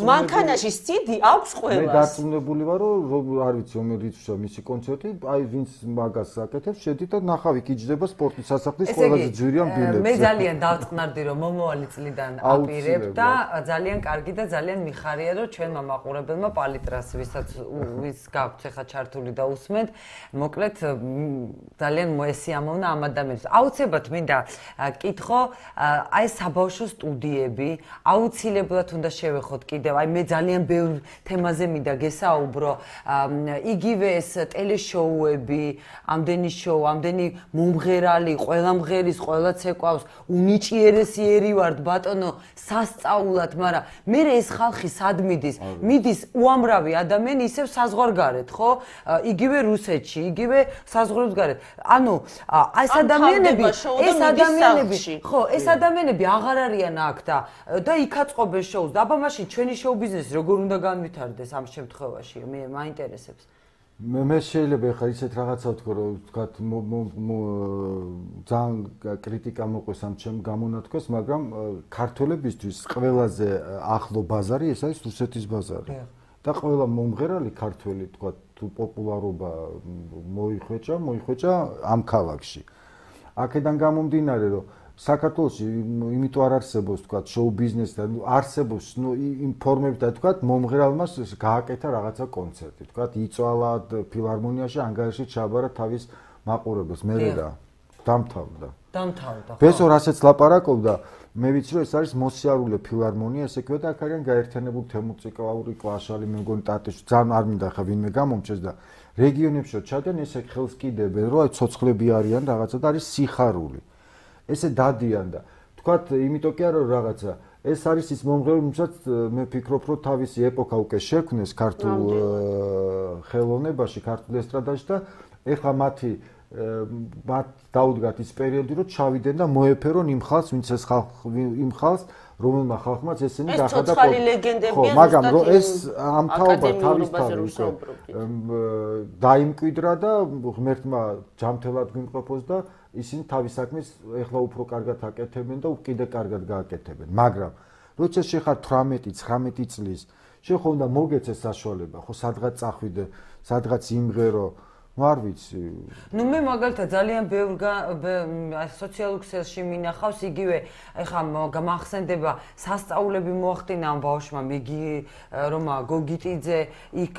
მანქანაში სიდი აქვს ყველას. მე დარწმუნებული ვარ რომ არ ვიცი რომელიც მისი კონცერტი, აი ვინც მაგას აკეთებს, შედი და ნახავი კიჯდება სპორტის სასახლის ყველაზე ძვირიან ბილეთს. მე ძალიან დავწყნარდი რომ მომავალი წლიდან აპირებ და ძალიან კარგი და ძალიან მიხარია რომ ჩვენმა მაყურებელმა პალიტრას ვისაც ვის გაქვთ ახლა ჩართული და უსმენთ, მოკლედ ძალიან მოესიამოვნა ამ ადამიანს. აუცილებლად მინდა კითხო, აი საბავშვო სტუდიები, აუცილებლად უნდა შევეხოთ კიდევ, აი მე ძალიან ბევრ თემაზე მინდა გესაუბრო, იგივე ეს ტელეშოუები, ამდენი შოუ, ამდენი მომღერალი, ყველა მღერის, ყველა ცეკვავს, უნიჭიერესიერი ვართ ბატონო, სასწაულად, მაგრამ მე ეს ხალხი სად მიდის? მიდის უამრავი ადამიანი ისევ საზღვარგარეთ, ხო? იგივე რუსეთში, იგივე საზღვარგარეთ. ანუ ეს ადამიანები, ეს ადამიანები, ხო, ეს ადამიანები აღარ არიან აქ და და იქაწყობენ შოუს. აბა მაშინ ჩვენი შოუ ბიზნესი როგორ უნდა განვითარდეს ამ შემთხვევაში? მე მაინტერესებს. მე მე შეიძლება ახლა ისეთ რაღაცა ვთქვა რომ ვთქვათ ძალიან კრიტიკა მოყვეს ამ ჩემ გამონათქვას, მაგრამ ქართველებისთვის ყველაზე ახლო ბაზარი ეს არის რუსეთის ბაზარი. და ყველა მომღერალი ქართველი ვთქვათ თუ პოპულარობა მოიხვეჭა, მოიხვეჭა ამ ქალაქში. აქედან გამომდინარე რომ საქართველოში იმიტომ არ არსებობს თქვა შოუ ბიზნესი და არსებობს ნუ იმ ფორმებით და თქვა მომღერალმა გააკეთა რაღაცა კონცერტი თქვა იწვალა ფილარმონიაში ანგარიში ჩაბარა თავის მაყურებელს მე რა დამთავრდა დამთავრდა ხო ბესო რასაც ლაპარაკობდა მე ვიცი რომ ეს არის მოსიარულე ფილარმონია ესე ქვია და აქ არიან გაერთიანებული თემურწიკავური კლაშალი მე მგონი ტატეში ძალიან არ მინდა ხა ვინმე გამომჩეს და რეგიონებში ჩადენ ესე ხელს კიდებენ რომ აი ცოცხლები არიან რაღაცა და არის სიხარული ესე დადიან და თქვათ იმიტომ კი არა რაღაცა ეს არის ის მომღერალი რომელსაც მე ფიქრობ რომ თავისი ეპოქა უკვე შექმნეს ქართულ ხელოვნებაში ქართულ ესტრადაში და ეხლა მათი მათ დაუდგათ ის პერიოდი რომ ჩავიდნენ და მოეფერონ იმ ხალხს ვინც ეს ხალხი იმ ხალხს რომელმა ხალხმაც ესენი დახადა ხო მაგრამ რომ ეს ამ თაობა თავისთავად უკვე დაიმკვიდრა და ღმერთმა ჯამთელად გვიმყოფოს და ისინი თავის საქმეს ეხლა უფრო კარგად აკეთებენ და კიდე კარგად გააკეთებენ. მაგრამ როცა შეხარ თვრამეტი ცხრამეტი წლის, შენ ხო უნდა მოგეცეს საშუალება, ხო სადღაც წახვიდე, სადღაც იმღერო, ну არ ვიცი. ну მე მაგალითად ძალიან ბევრ სოციალურ ქსელში მინახავს იგივე ეხა გამახსენდება სასწაულები მოახდინა ამ ბავშვმა მიგი რომ გოგიტიძე იქ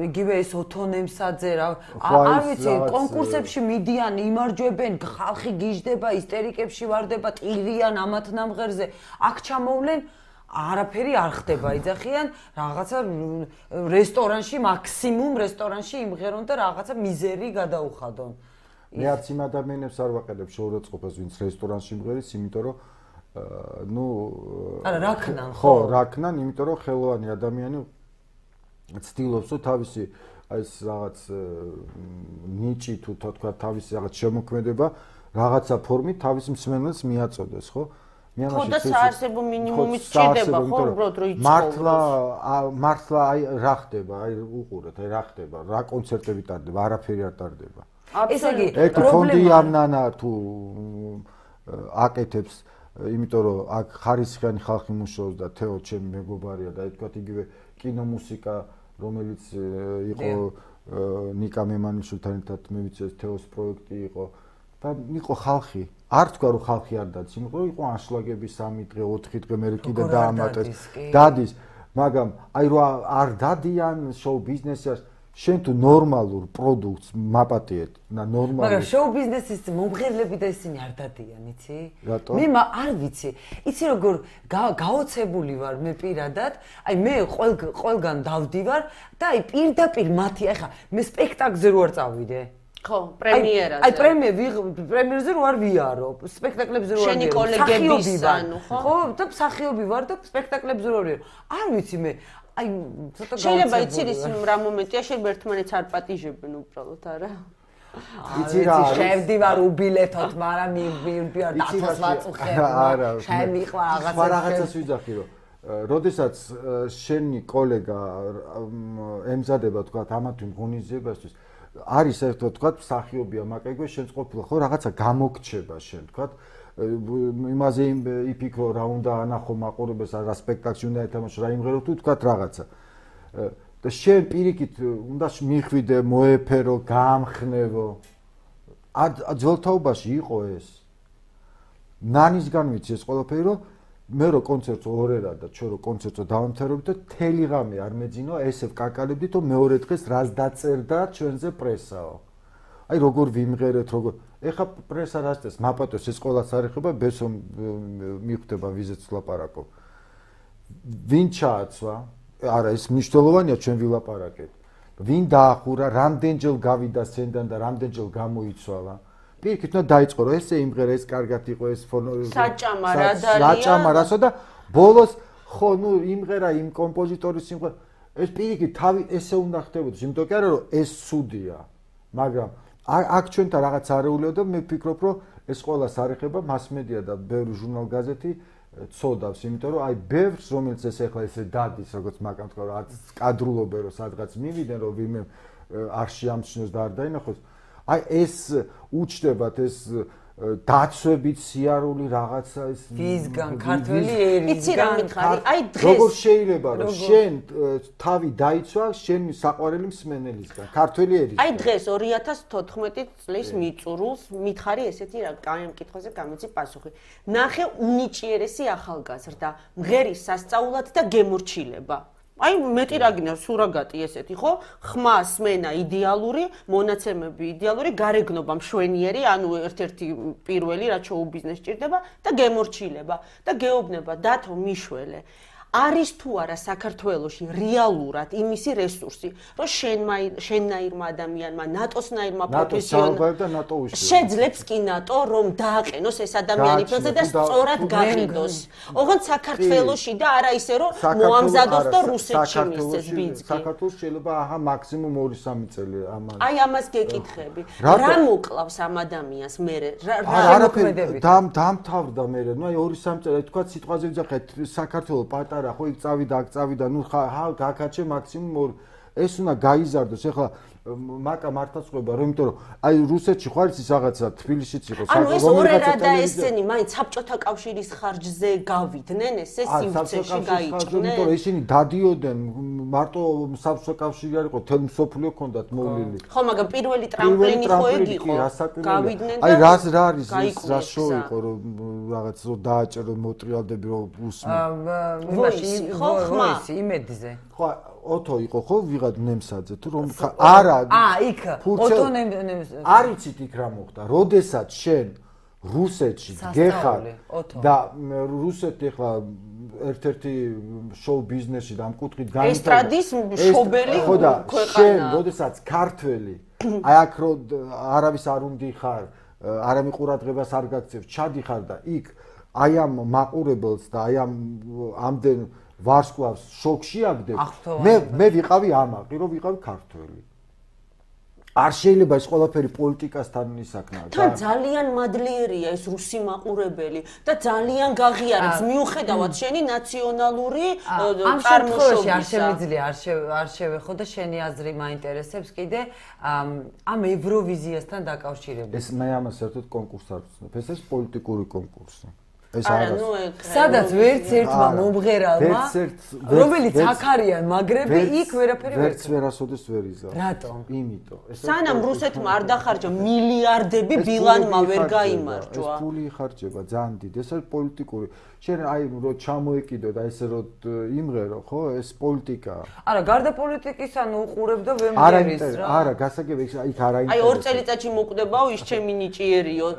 იგივე ეს ოთონემსაძე რა არ ვიცი კონკურსებში მიდიან იმარჯვებენ ხალხი გიждდება ისტერიკებში ვარდება ტირიან ამათ ნამღერზე აქ ჩამოვლენ არაფერი არ ხდება იძახიან რაღაცა რესტორანში მაქსიმუმ რესტორანში იმღერონ და რაღაცა მიზერი გადაუხადონ მე არც იმ ადამიანებს არ ვაყენებ შეურაცხყოფას ვინც რესტორანში იმღერის იმიტომ რომ ну არა რაკნან ხო რაკნან იმიტომ რომ ხელოვანი ადამიანი ცდილობს რომ თავისი აი ეს რაღაც ნიჭი თუ თქვა თავისი რაღაც შემოქმედება რაღაცა ფორმით თავის მსმენელს მიაწოდეს ხო ხო და საარსებო მინიმუმიც სჭირდება ხო უბრალოდ რომ იცხოვრო მართლა მართლა აი რა ხდება აი უყურეთ აი რა ხდება რა კონცერტები ტარდება არაფერი არ ტარდება ესე იგი პრობლემა ფონდი ამნანა თუ აკეთებს იმიტომ რომ აქ ხარისხიანი ხალხი მუშაობს და თეო ჩემი მეგობარია და თქვათ იგივე კინომუსიკა რომელიც იყო ნიკა მემანიშვილთან ერთად მე ვიცი ეს თეოს პროექტი იყო და იყო ხალხი არ თქვა რომ ხალხი არ დადის იმიტომ რომ იყო ანშლაგები სამი დღე ოთხი დღე მე კიდე დაამატეს დადის მაგრამ აი რომ არ დადიან შოუ ბიზნესს შენ თუ ნორმალურ პროდუქტს მაპატიეთ და ნორმალურ მაგრამ შოუ ბიზნესის მომღერლები და ისინი არ დადიან იცი მე არ ვიცი იცი როგორ გაოცებული ვარ მე პირადად აი მე ყველგან დავდივარ და აი პირდაპირ მათი ახლა მე სპექტაკლზე რო არ წავიდე ხო პრემიერაზე აი პრემიერზე რო არ ვიარო სპექტაკლებზე რო არ შენი კოლეგების ანუ ხო ხო და მსახიობი ვარ და სპექტაკლებზე რო არ ვიარო არ ვიცი მე აი ცოტა შეიძლება იცი ის რა მომენტია შეიძლება ერთმანეთს არ პატიჟებენ უბრალოდ არა იცი რა შევდივარ უბილეთოთ მაგრამ მივდივარ დათოს ვაწუხებ არა შემიყვა რაღაცა რაღაცას ვიძახი რომ როდესაც შენი კოლეგა ემზადება თქვა ამათი ღონისძიებასთვის არის ერთო თქვა მსახიობია მაკეგო შენც ყოფილა ხო რაღაცა გამოგრჩება შენ თქვა იმაზე იფიქრო რა უნდა ანახო მაყურებელს რა სპექტაკლში უნდა ეთამაშო რა იმღერო თუ თქვა რაღაცა და შენ პირიქით უნდა მიხვიდე მოეფერო გაამხნევო ძველთაობაში იყო ეს ნანისგან ვიცი ეს ყველაფერი რომ მე რო კონცერტს ორერა და ჩვენ რო კონცერტს დავამთავრებდი და თელი ღამე არ მეძინო ესე ვკაკალებდით რომ მეორე დღეს რას დაწერდა ჩვენზე პრესაო აი როგორ ვიმღერეთ როგორ ეხა პრესა რას წეს მაპატოს ეს ყველას არ ეხება ბესო მიხვდება ვიზეც ვლაპარაკო ვინ ჩააცვა არა ეს მნიშვნელოვანია ჩვენ ვილაპარაკეთ ვინ დაახურა რამდენჯერ გავიდა სცენიდან და რამდენჯერ გამოიცვალა პირიქით უნდა დაიწყო რომ ესე იმღერა ეს კარგად იყო ეს ფონო საჭამა რა დალია საჭამა რასო და ბოლოს ხო ნუ იმღერა იმ კომპოზიტორის სიმღერა ეს პირიქით თავი ესე უნდა ხდებოდეს იმიტომ კი არა რომ ეს ცუდია მაგრამ აქ ჩვენთან რაღაც არეულიო და მე ვფიქრობ რომ ეს ყველას არ ეხება მასმედია და ბევრი ჟურნალ-გაზეთი ცოდავს იმიტომ რომ აი ბევრს რომელიც ეს ახლა ესე დადის როგორც მაგამ თქვა რომ კადრულობენ რომ სადღაც მივიდნენ რომ ვინმე არ შეამჩნიოს და არ დაინახოს აი ეს უჩნდებათ ეს დაცვებით სიარული რაღაცა ეს ვისგან ქართველი ერისგან იცი რა მითხარი აი დღეს როგორ შეიძლება რომ შენ თავი დაიცვა შენი საყვარელი მსმენელისგან ქართველი ერისგან აი დღეს ორი ათას თოთხმეტი წლის მიწურულს მითხარი ესეთი რა კაი ამ კითხვაზე გამიცი პასუხი ნახე უნიჭიერესი ახალგაზრდა მღერის სასწაულად და გემორჩილება აი მეტი რა გინდა სურაგატი ესეთი ხო ხმა სმენა იდეალური მონაცემები იდეალური გარეგნობა მშვენიერი ანუ ერთ-ერთი პირველი რაც შოუ ბიზნესს ჭირდება და გემორჩილება და გეუბნება დათო მიშველე არის თუ არა საქართველოში რეალურად იმისი რესურსი რომ შენმა შენნაირმა ადამიანმა ნატოსნაირმა პროფესიონალმა შეძლებს კი ნატო რომ დააყენოს ეს ადამიანი ფელზე და სწორად გაყიდოს ოღონდ საქართველოში და არა ისე რომ მოამზადოს და რუსეთში მისცეს ბიძგი საქართველოს შეიძლება აჰა მაქსიმუმ ორი სამი წელი ამას აი ამას გეკითხები რა მოკლავს ამ ადამიანს მე რა შემოქმედებით დამთავრდა მე ნუ აი ორი სამი წელი თქვა სიტყვაზე ვიძახეთ საქართველოს პატარა რა ხო იქ წავიდა აქ წავიდა ნუ ხა გაკაჩე მაქსიმუმ ეს უნდა გაიზარდოს ეხლა მაკა მართლაც ყვება, რომ იმიტომ რომ აი რუსეთში ხო არის ის რაღაცა თბილისშიც იყო ანუ ეს ორ და ესენი მაინც საბჭოთა კავშირის ხარჯზე გავიდნენ, ესე სივრცეში გაიჭრნენ. იმიტომ რომ ისინი დადიოდნენ, მარტო საბჭოთა კავშირი არ იყო, თელ მსოფლიო ჰქონდათ მოვლილი. ხო, მაგრამ პირველი ტრამპლინი ხო ეგ იყო. გავიდნენ და აი რას რა არის ის რა შოუ იყო რომ რაღაც რომ დააჭერო მოტრიალდები რომ უსმენ. იმაში ხო ისი იმედზე. ხო ოთო იყო ხო ვიღად ნემსაძე თუ რომ არა აა იქ ოტო ნემსაძე არიცით იქ რა მოხდა როდესაც შენ რუსეთში გეხარ და რუსეთი ახლა ერთ-ერთი შოუ ბიზნესში და ამ კუთხით განვითარდა ესტრადის შობელი ქვეყანა შენ როდესაც ქართველი აი აქ რო არავის არ უნდიხარ არამე ყურადღებას არ გაქცევ ჩადიხარ და იქ აი ამ მაყურებელს და აი ამ ამდენ ვარსკვლავს შოქში აგდებ მე მე ვიყავი ამაყი რომ ვიყავი ქართველი არ შეიძლება ეს ყველაფერი პოლიტიკასთან ისაკნა და ძალიან მადლიერია ეს რუსი მაყურებელი და ძალიან გაღიარებს მიუხედავად შენი ნაციონალური წარმოშობისა არ შემიძლია არ შევეხო და შენი აზრი მაინტერესებს კიდე ამ ევროვიზიასთან დაკავშირებით ეს მე ამას საერთოდ კონკურსს არ ვცნობ ეს ეს პოლიტიკური კონკურსი ეს არა ნუ სადაც ვერც ერთმა მომღერალმა რომელიც აქ არიან მაგრები იქ ვერაფერი ვერ ვერც ვერასოდეს ვერ იზა რატომ იმიტომ სანამ რუსეთმა არ დახარჯა მილიარდები ბილანმა ვერ გაიმარჯვა ეს ფული იხარჯება ძალიან დიდი ეს არის პოლიტიკური შენ აი რო ჩამოეკიდო და ესე რო იმღერო ხო ეს პოლიტიკაა არა გარდა პოლიტიკისა ნუ უყურებ და ვერ მღერის რა არა გასაგები იქ არა აი ორ წელიწადში მოკვდებაო ის ჩემი ნიჭიერიო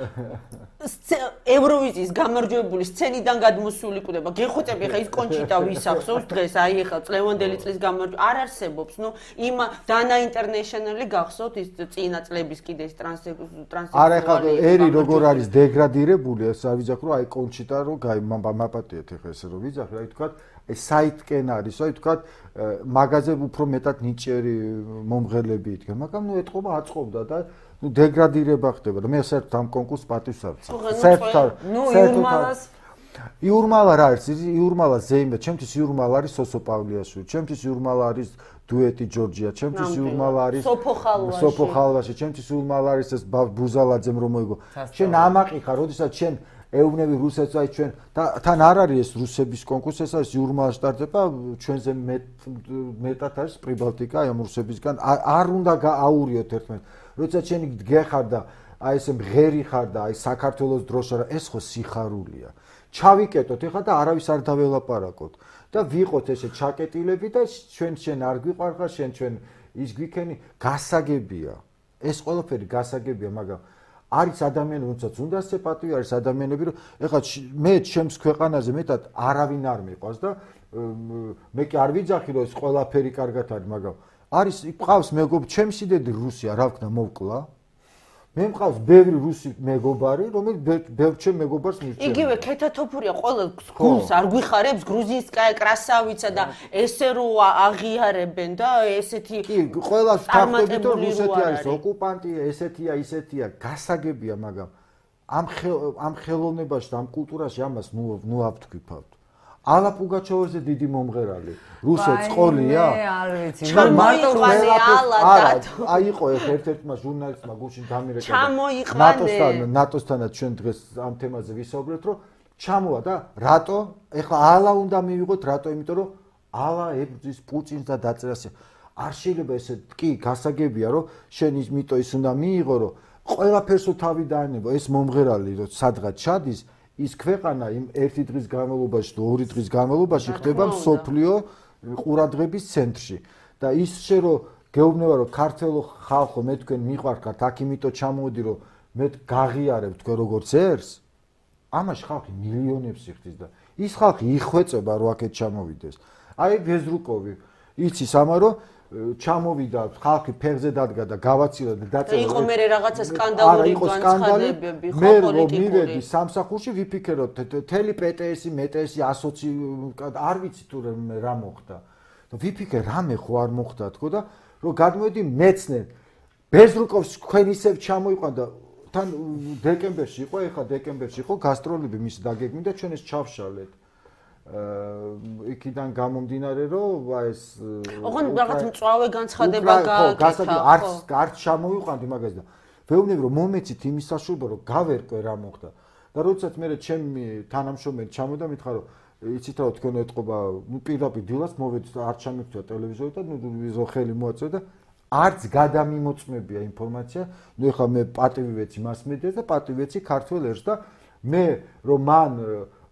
ევროვიზიის გამარჯვებული სცენიდან გადმოსული კვდება. გეხოცები ხა ის კონჩიტა ვისახსოვს დღეს, აი ხა წლევანდელი წლის გამარჯვებული არ არსებობს. ნუ იმ დანა ინტერნეშნალი გახსოვთ ის წინა წლების კიდე ის ტრანსექსუალი. არა ხა ერი როგორ არის დეგრადირებული, ეს არ ვიძახ რომ აი კონჩიტა რო გაი მაპატიეთ ხა ესე რომ ვიძახი, აი თქვა ეს საიტკენ არის, აი თქვა მაგაზე უფრო მეტად ნიჭიერი მომღერლები იდგა, მაგრამ ნუ ეთყობა აწყობდა და ну деградირება ხდება და მე საერთოდ ამ კონკურსს პატივს არ ვცემ. საერთოდ ну იურმალას იურმალა რა არის? იურმალა ზეიმბა, ჩემთვის იურმალა არის სოსო პავლიაშვილი, ჩემთვის იურმალა არის დუეტი ჯორჯია, ჩემთვის იურმალა არის სოფო ხალვაში. სოფო ხალვაში, ჩემთვის იურმალა არის ეს ბუზალაძემ რომ მოიგო. შენ ამაყი ხარ, როდესაც შენ ეუბნები რუსეთს აი ჩვენ და თან არ არის ეს რუსების კონკურსი, ეს არის იურმალა სტარტება ჩვენზე მეტად არის პრიბალტიკა ამ რუსებისგან არ უნდა გააურიოთ ერთმანეთს. როდესაც შენ გეხარ და აი ესე მღერი ხარ და აი საქართველოს დროშა რა ეს ხო სიხარულია. ჩავიკეტოთ ეხლა და არავის არ დაველაპარაკოთ და ვიყოთ ესე ჩაკეტილები და ჩვენ შენ არ გვიყვარხარ, შენ ჩვენ ის გვიქენი გასაგებია. ეს ყველაფერი გასაგებია, მაგრამ არის ადამიანები, რომელსაც უნდა ასე პატივი არის ადამიანები, რომ ეხლა მე ჩემს ქვეყანაზე მეტად არავინ არ მიყვას და მე კი არ ვიძახი რომ ეს ყველაფერი კარგად არის, მაგრამ არის მყავს მეგობ ჩემს იდედი რუსია რა ვქნა მოვკლა მე მყავს ბევრი რუსი მეგობარი რომელიც ბევრ ჩემ მეგობარს მირჩევს იგივე ქეთათოფურია ყველა გულს არ გვიხარებს გრუზინსკაია კრასავიცა და ესე რო აღიარებენ და ესეთი კი ყველა შთანხმებით რომ რუსეთი არის ოკუპანტია ესეთია ისეთია გასაგებია მაგრამ ამ ამ ხელოვნებაში და ამ კულტურაში ამას ნუ ნუ ავთქვიფავთ ალა პუგაჩოვერზე დიდი მომღერალი რუსეთს ყოლია მე არ ვიცი მარტო არა აი იყო ერთ-ერთმა ჟურნალისტმა გუშინ დამირეკა ნატოსთან ნატოსთანაც ჩვენ დღეს ამ თემაზე ვისაუბრეთ რომ ჩამოვა და რატო ეხლა ალა უნდა მივიღოთ რატო იმიტომ რომ ალა ებრძვის პუტინს და დაწერას არ შეიძლება ესე კი გასაგებია რომ შენ ის მიტო ის უნდა მიიღო რომ ყველაფერსო თავი დაანებო ეს მომღერალი რომ სადღაც ჩადის ის ქვეყანა იმ ერთი დღის განმავლობაში და ორი დღის განმავლობაში ხდება მსოფლიო ყურადღების ცენტრში და ის შე რომ გეუბნება რომ ქართველო ხალხო მე თქვენ მიყვარხართ აქ იმიტო ჩამოვიდი რომ მე გაღიარებ თქვენ როგორც ერს ამაში ხალხი მილიონებს იხდის და ის ხალხი იხვეწება რომ აქეთ ჩამოვიდეს აი ბეზრუკოვი იცის ამა რომ ჩამოვიდა ხალხი ფეხზე დადგა და გავაცირა და დაწერა იყო მე რაღაცა სკანდალური განცხადებები ხო პოლიტიკური მე მივედი სამსახურში ვიფიქროთ თელი პეტეესი მეტეესი ასოცი არ ვიცი თუ რა მოხდა და ვიფიქრე რამე ხო არ მოხდა თქო და რომ გადმოედი მეცნე ბეზრუკოვს თქვენ ისევ ჩამოიყვან და თან დეკემბერში იყო ეხლა დეკემბერში იყო გასტროლები მის დაგეგმი და ჩვენ ეს ჩავშალეთ იქიდან გამომდინარე რომ ეს ოღონდ რაღაც მწვავე განცხადება გააკეთა არც არც ჩამოვიყვანდი მაგას და ვეუბნები რომ მომეცით იმის საშუალება რომ გავერკვე რა მოხდა და როდესაც მე ჩემი თანამშრომელი ჩამოდა მითხრა რომ იცით რა თქვენ ეთყობა ნუ პირდაპირ დილას მოვედი და არ ჩამიგდო ტელევიზორი და ნუ ვიზო ხელი მოაწევ და არც გადამიმოწმებია ინფორმაცია ნუ ეხლა მე პატივი ვეცი მასმედიას და პატივი ვეცი ქართველ ერს და მე რომ მან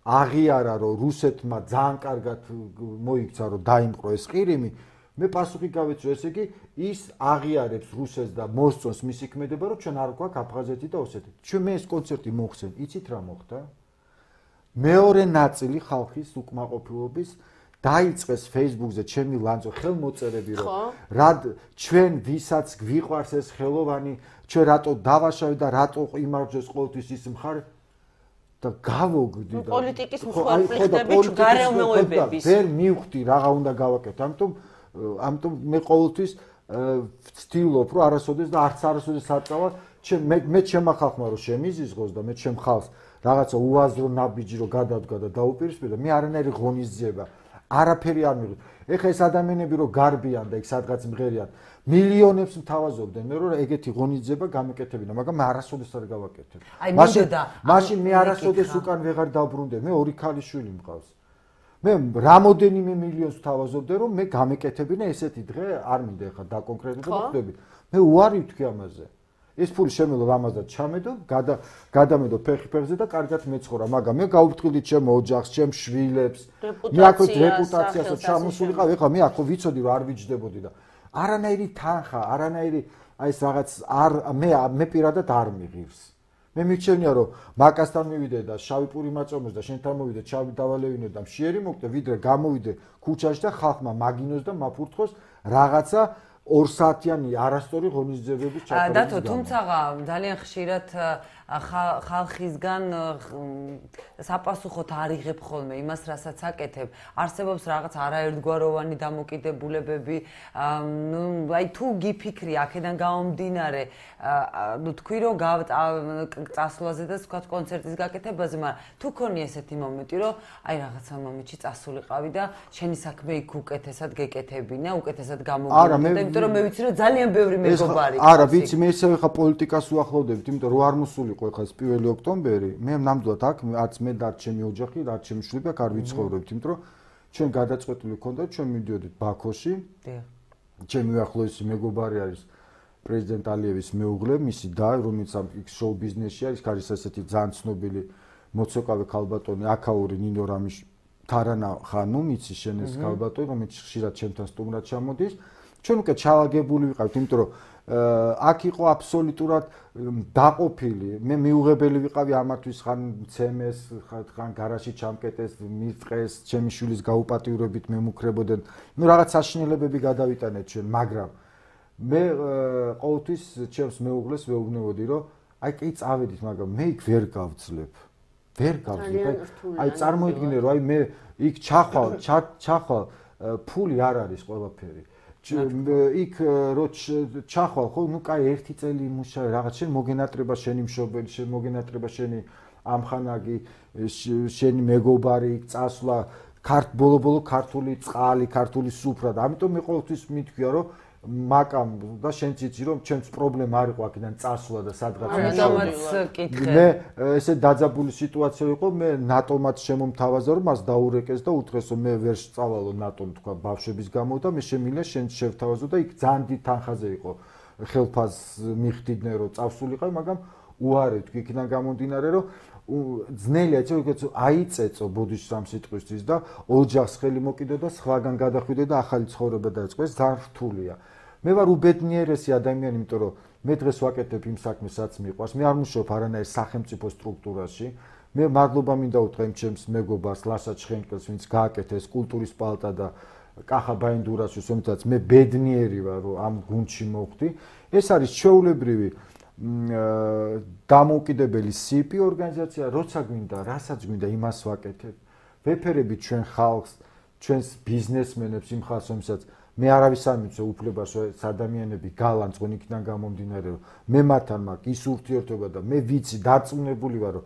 აღიარა რომ რუსეთმა ძალიან კარგად მოიქცა რომ დაიმყრო ეს ყირიმი მე პასუხი გავეცი რომ ესე იგი ის აღიარებს რუსეთს და მოსწონს მისი ქმედება რომ ჩვენ არ გვაქვს აფხაზეთი და ოსეთი ჩვენ მე ეს კონცერტი მოხსენ იცით რა მოხდა მეორე ნაწილი ხალხის უკმაყოფილების დაიწყეს Facebook-ზე ჩემი ლანძო ხელმოწერები რომ რა ჩვენ ვისაც გვიყვარს ეს ხელოვანი ჩვენ რატო დავაშავეთ და რატო იმარჯვეს ყოველთვის ის მხარე და გავოგდი და პოლიტიკის მსხვერპლები გარემოებების ვერ მივხვდი რაღა უნდა გავაკეთო ამიტომ ამიტომ მე ყოველთვის ვცდილობ რომ არასოდეს და არც არასოდეს აწავა მე მე ჩემ ხალხმა რომ შემიზიზღოს და მე ჩემ ხალხს რაღაცა უაზრო ნაბიჯი რომ გადადგა და დაუპირისპირდა მე არანაირი ღონისძიება არაფერი არ მიიღო ეხა ეს ადამიანები რომ გარბიან და იქ სადღაც მღერიან მილიონებს მთავაზობდნენ მე რომ ეგეთი ღონისძიება გამეკეთებინა მაგრამ მე არასოდეს არ გავაკეთებ მაშინ მაშინ მე არასოდეს უკან ვეღარ დავბრუნდე მე ორი ქალიშვილი მყავს მე რამოდენიმე მილიონს ვთავაზობდი რომ მე გამეკეთებინა ესეთი დღე არ მინდა ეხა დაკონკრეტებო ხდები მე უარი ვთქვი ამაზე ეს ფული შემელო რამაზად ჩამედო გადამედო ფეხი ფეხზე და კარგად მეცხოვრა მაგრამ მე გავუფრთხილდი ჩემ ოჯახს ჩემ შვილებს მე აქ რეპუტაციასაც ჩამოსულიყავ ეხლა მე აქ ვიცოდი რომ არ ვიჯდებოდი და არანაირი თანხა არანაირი აი ეს რაღაც არ მე მე პირადად არ მიღირს მე მიჩვენია რომ მაკასთან მივიდე და შავი პური მაწომოს და შენთან მოვიდე შავი დავალევინე და მშიერი მოკდე ვიდრე გამოვიდე ქუჩაში და ხალხმა მაგინოს და მაფურთხოს რაღაცა ორ საათიანი არასწორი ღონისძიებების ჩატარების დათო თუმცა ძალიან ხშირად ხალხისგან საპასუხოდ არ იღებ ხოლმე იმას რასაც აკეთებ არსებობს რაღაც არაერთგვაროვანი დამოკიდებულებები ნუ აი თუ გიფიქრი აქედან გამომდინარე ნუ თქვი რომ წასვლაზე და თქვა კონცერტის გაკეთებაზე მაგრამ თუ ქონი ესეთი მომენტი რომ აი რაღაცა მომენტში წასულიყავი და შენი საქმე იქ უკეთესად გეკეთებინა უკეთესად გამოგინა იმიტომ რომ მე ვიცი რომ ძალიან ბევრი მეგობარი არა ვიცი მე ისევ ხა პოლიტიკას უახლოვდებით იმიტომ რომ არ მოსული ხო ეს პირველი ოქტომბერი მე ნამდვილად აქ არც მე და ჩემი ოჯახი და ჩემი შვილები აქ არ ვიცხოვრობთ იმიტომ რომ ჩვენ გადაწყვეტილი ვქონდა ჩვენ მივდიოდით ბაქოში ჩემი უახლოესი მეგობარი არის პრეზიდენტ ალიევის მეუღლე მისი და რომელიც ამ შოუ ბიზნესში არის არის ასეთი ძალიან ცნობილი მოცეკვავე ქალბატონი აქაური ნინო რამიშ თარანა ხანუმ იცი შენ ეს ქალბატონი რომელიც ხშირად ჩემთან სტუმრად ჩამოდის ჩვენ უკვე ჩალაგებული ვიყავით იმიტომ რომ აქ იყო აბსოლუტურად დაყოფილი მე მიუღებელი ვიყავი ამათვის ხან მცემეს ხან გარაჟში ჩამკეტეს მიწყეს ჩემი შვილის გაუპატიურებით მემუქრებოდნენ ნუ რაღაც საშინელებები გადავიტანეთ ჩვენ მაგრამ მე ყოველთვის ჩემს მეუღლეს ვეუბნებოდი რომ აი კი წავედით მაგრამ მე იქ ვერ გავძლებ ვერ გავძლებ აი წარმოიდგინე რომ აი მე იქ ჩახვალ ჩახვალ ფული არ არის ყველაფერი იქ რო ჩახვალ ხო ნუ კაი ერთი წელი იმუშავე რაღაც შენ მოგენატრება შენი მშობელი შენ მოგენატრება შენი ამხანაგი შენი მეგობარი იქ წასვლა ქართ ბოლო-ბოლო ქართული წყალი ქართული სუფრა და ამიტომ მე ყოველთვის მithქვია რომ მაკამ და შენ ციცი რომ ჩემს პრობლემა არ იყო აქედან წასვლა და სადღაც მე ესე დაძაბული სიტუაცია იყო მე ნატომად შემომთავაზა რომ მას დაურეკეს და უთხრეს რომ მე ვერ სწავალო ნატომ თქვა ბავშვების გამო და მე შემიძლია შენ შევთავაზო და იქ ძალიან დიდ თანხაზე იყო ხელფასს მიხდიდნენ რომ წავსულიყავი მაგრამ უარი თქვი იქიდან გამომდინარე რომ ძნელია ეს როგორც აიწეწო ბოდიშს ამ სიტყვისთვის და ოჯახს ხელი მოკიდო და სხვაგან გადახვიდე და ახალი ცხოვრება დაიწყო ეს ძალიან რთულია მე ვარ უბედნიერესი ადამიანი იმიტომ რომ მე დღეს ვაკეთებ იმ საქმეს რაც მიყვარს მე არ მუშაობ არანაირ სახელმწიფო სტრუქტურაში მე მადლობა მინდა უთხრა იმ ჩემს მეგობარს ლასა ჩხენკელს ვინც გააკეთა ეს კულტურის პალატა და კახა ბაინდურაშვილს რომელსაც მე ბედნიერი ვარ რომ ამ გუნდში მოვხდი ეს არის ჩვეულებრივი დამოუკიდებელი სი პი ორგანიზაცია როცა გვინდა რასაც გვინდა იმას ვაკეთებ ვეფერებით ჩვენ ხალხს ჩვენს ბიზნესმენებს იმ ხალხს რომელსაც მე არავის არ მიცე უფლებას ეს ადამიანები გალანძღონ იქიდან გამომდინარე რომ მე მათთან მაქვს ის ურთიერთობა და მე ვიცი დარწმუნებული ვარ რომ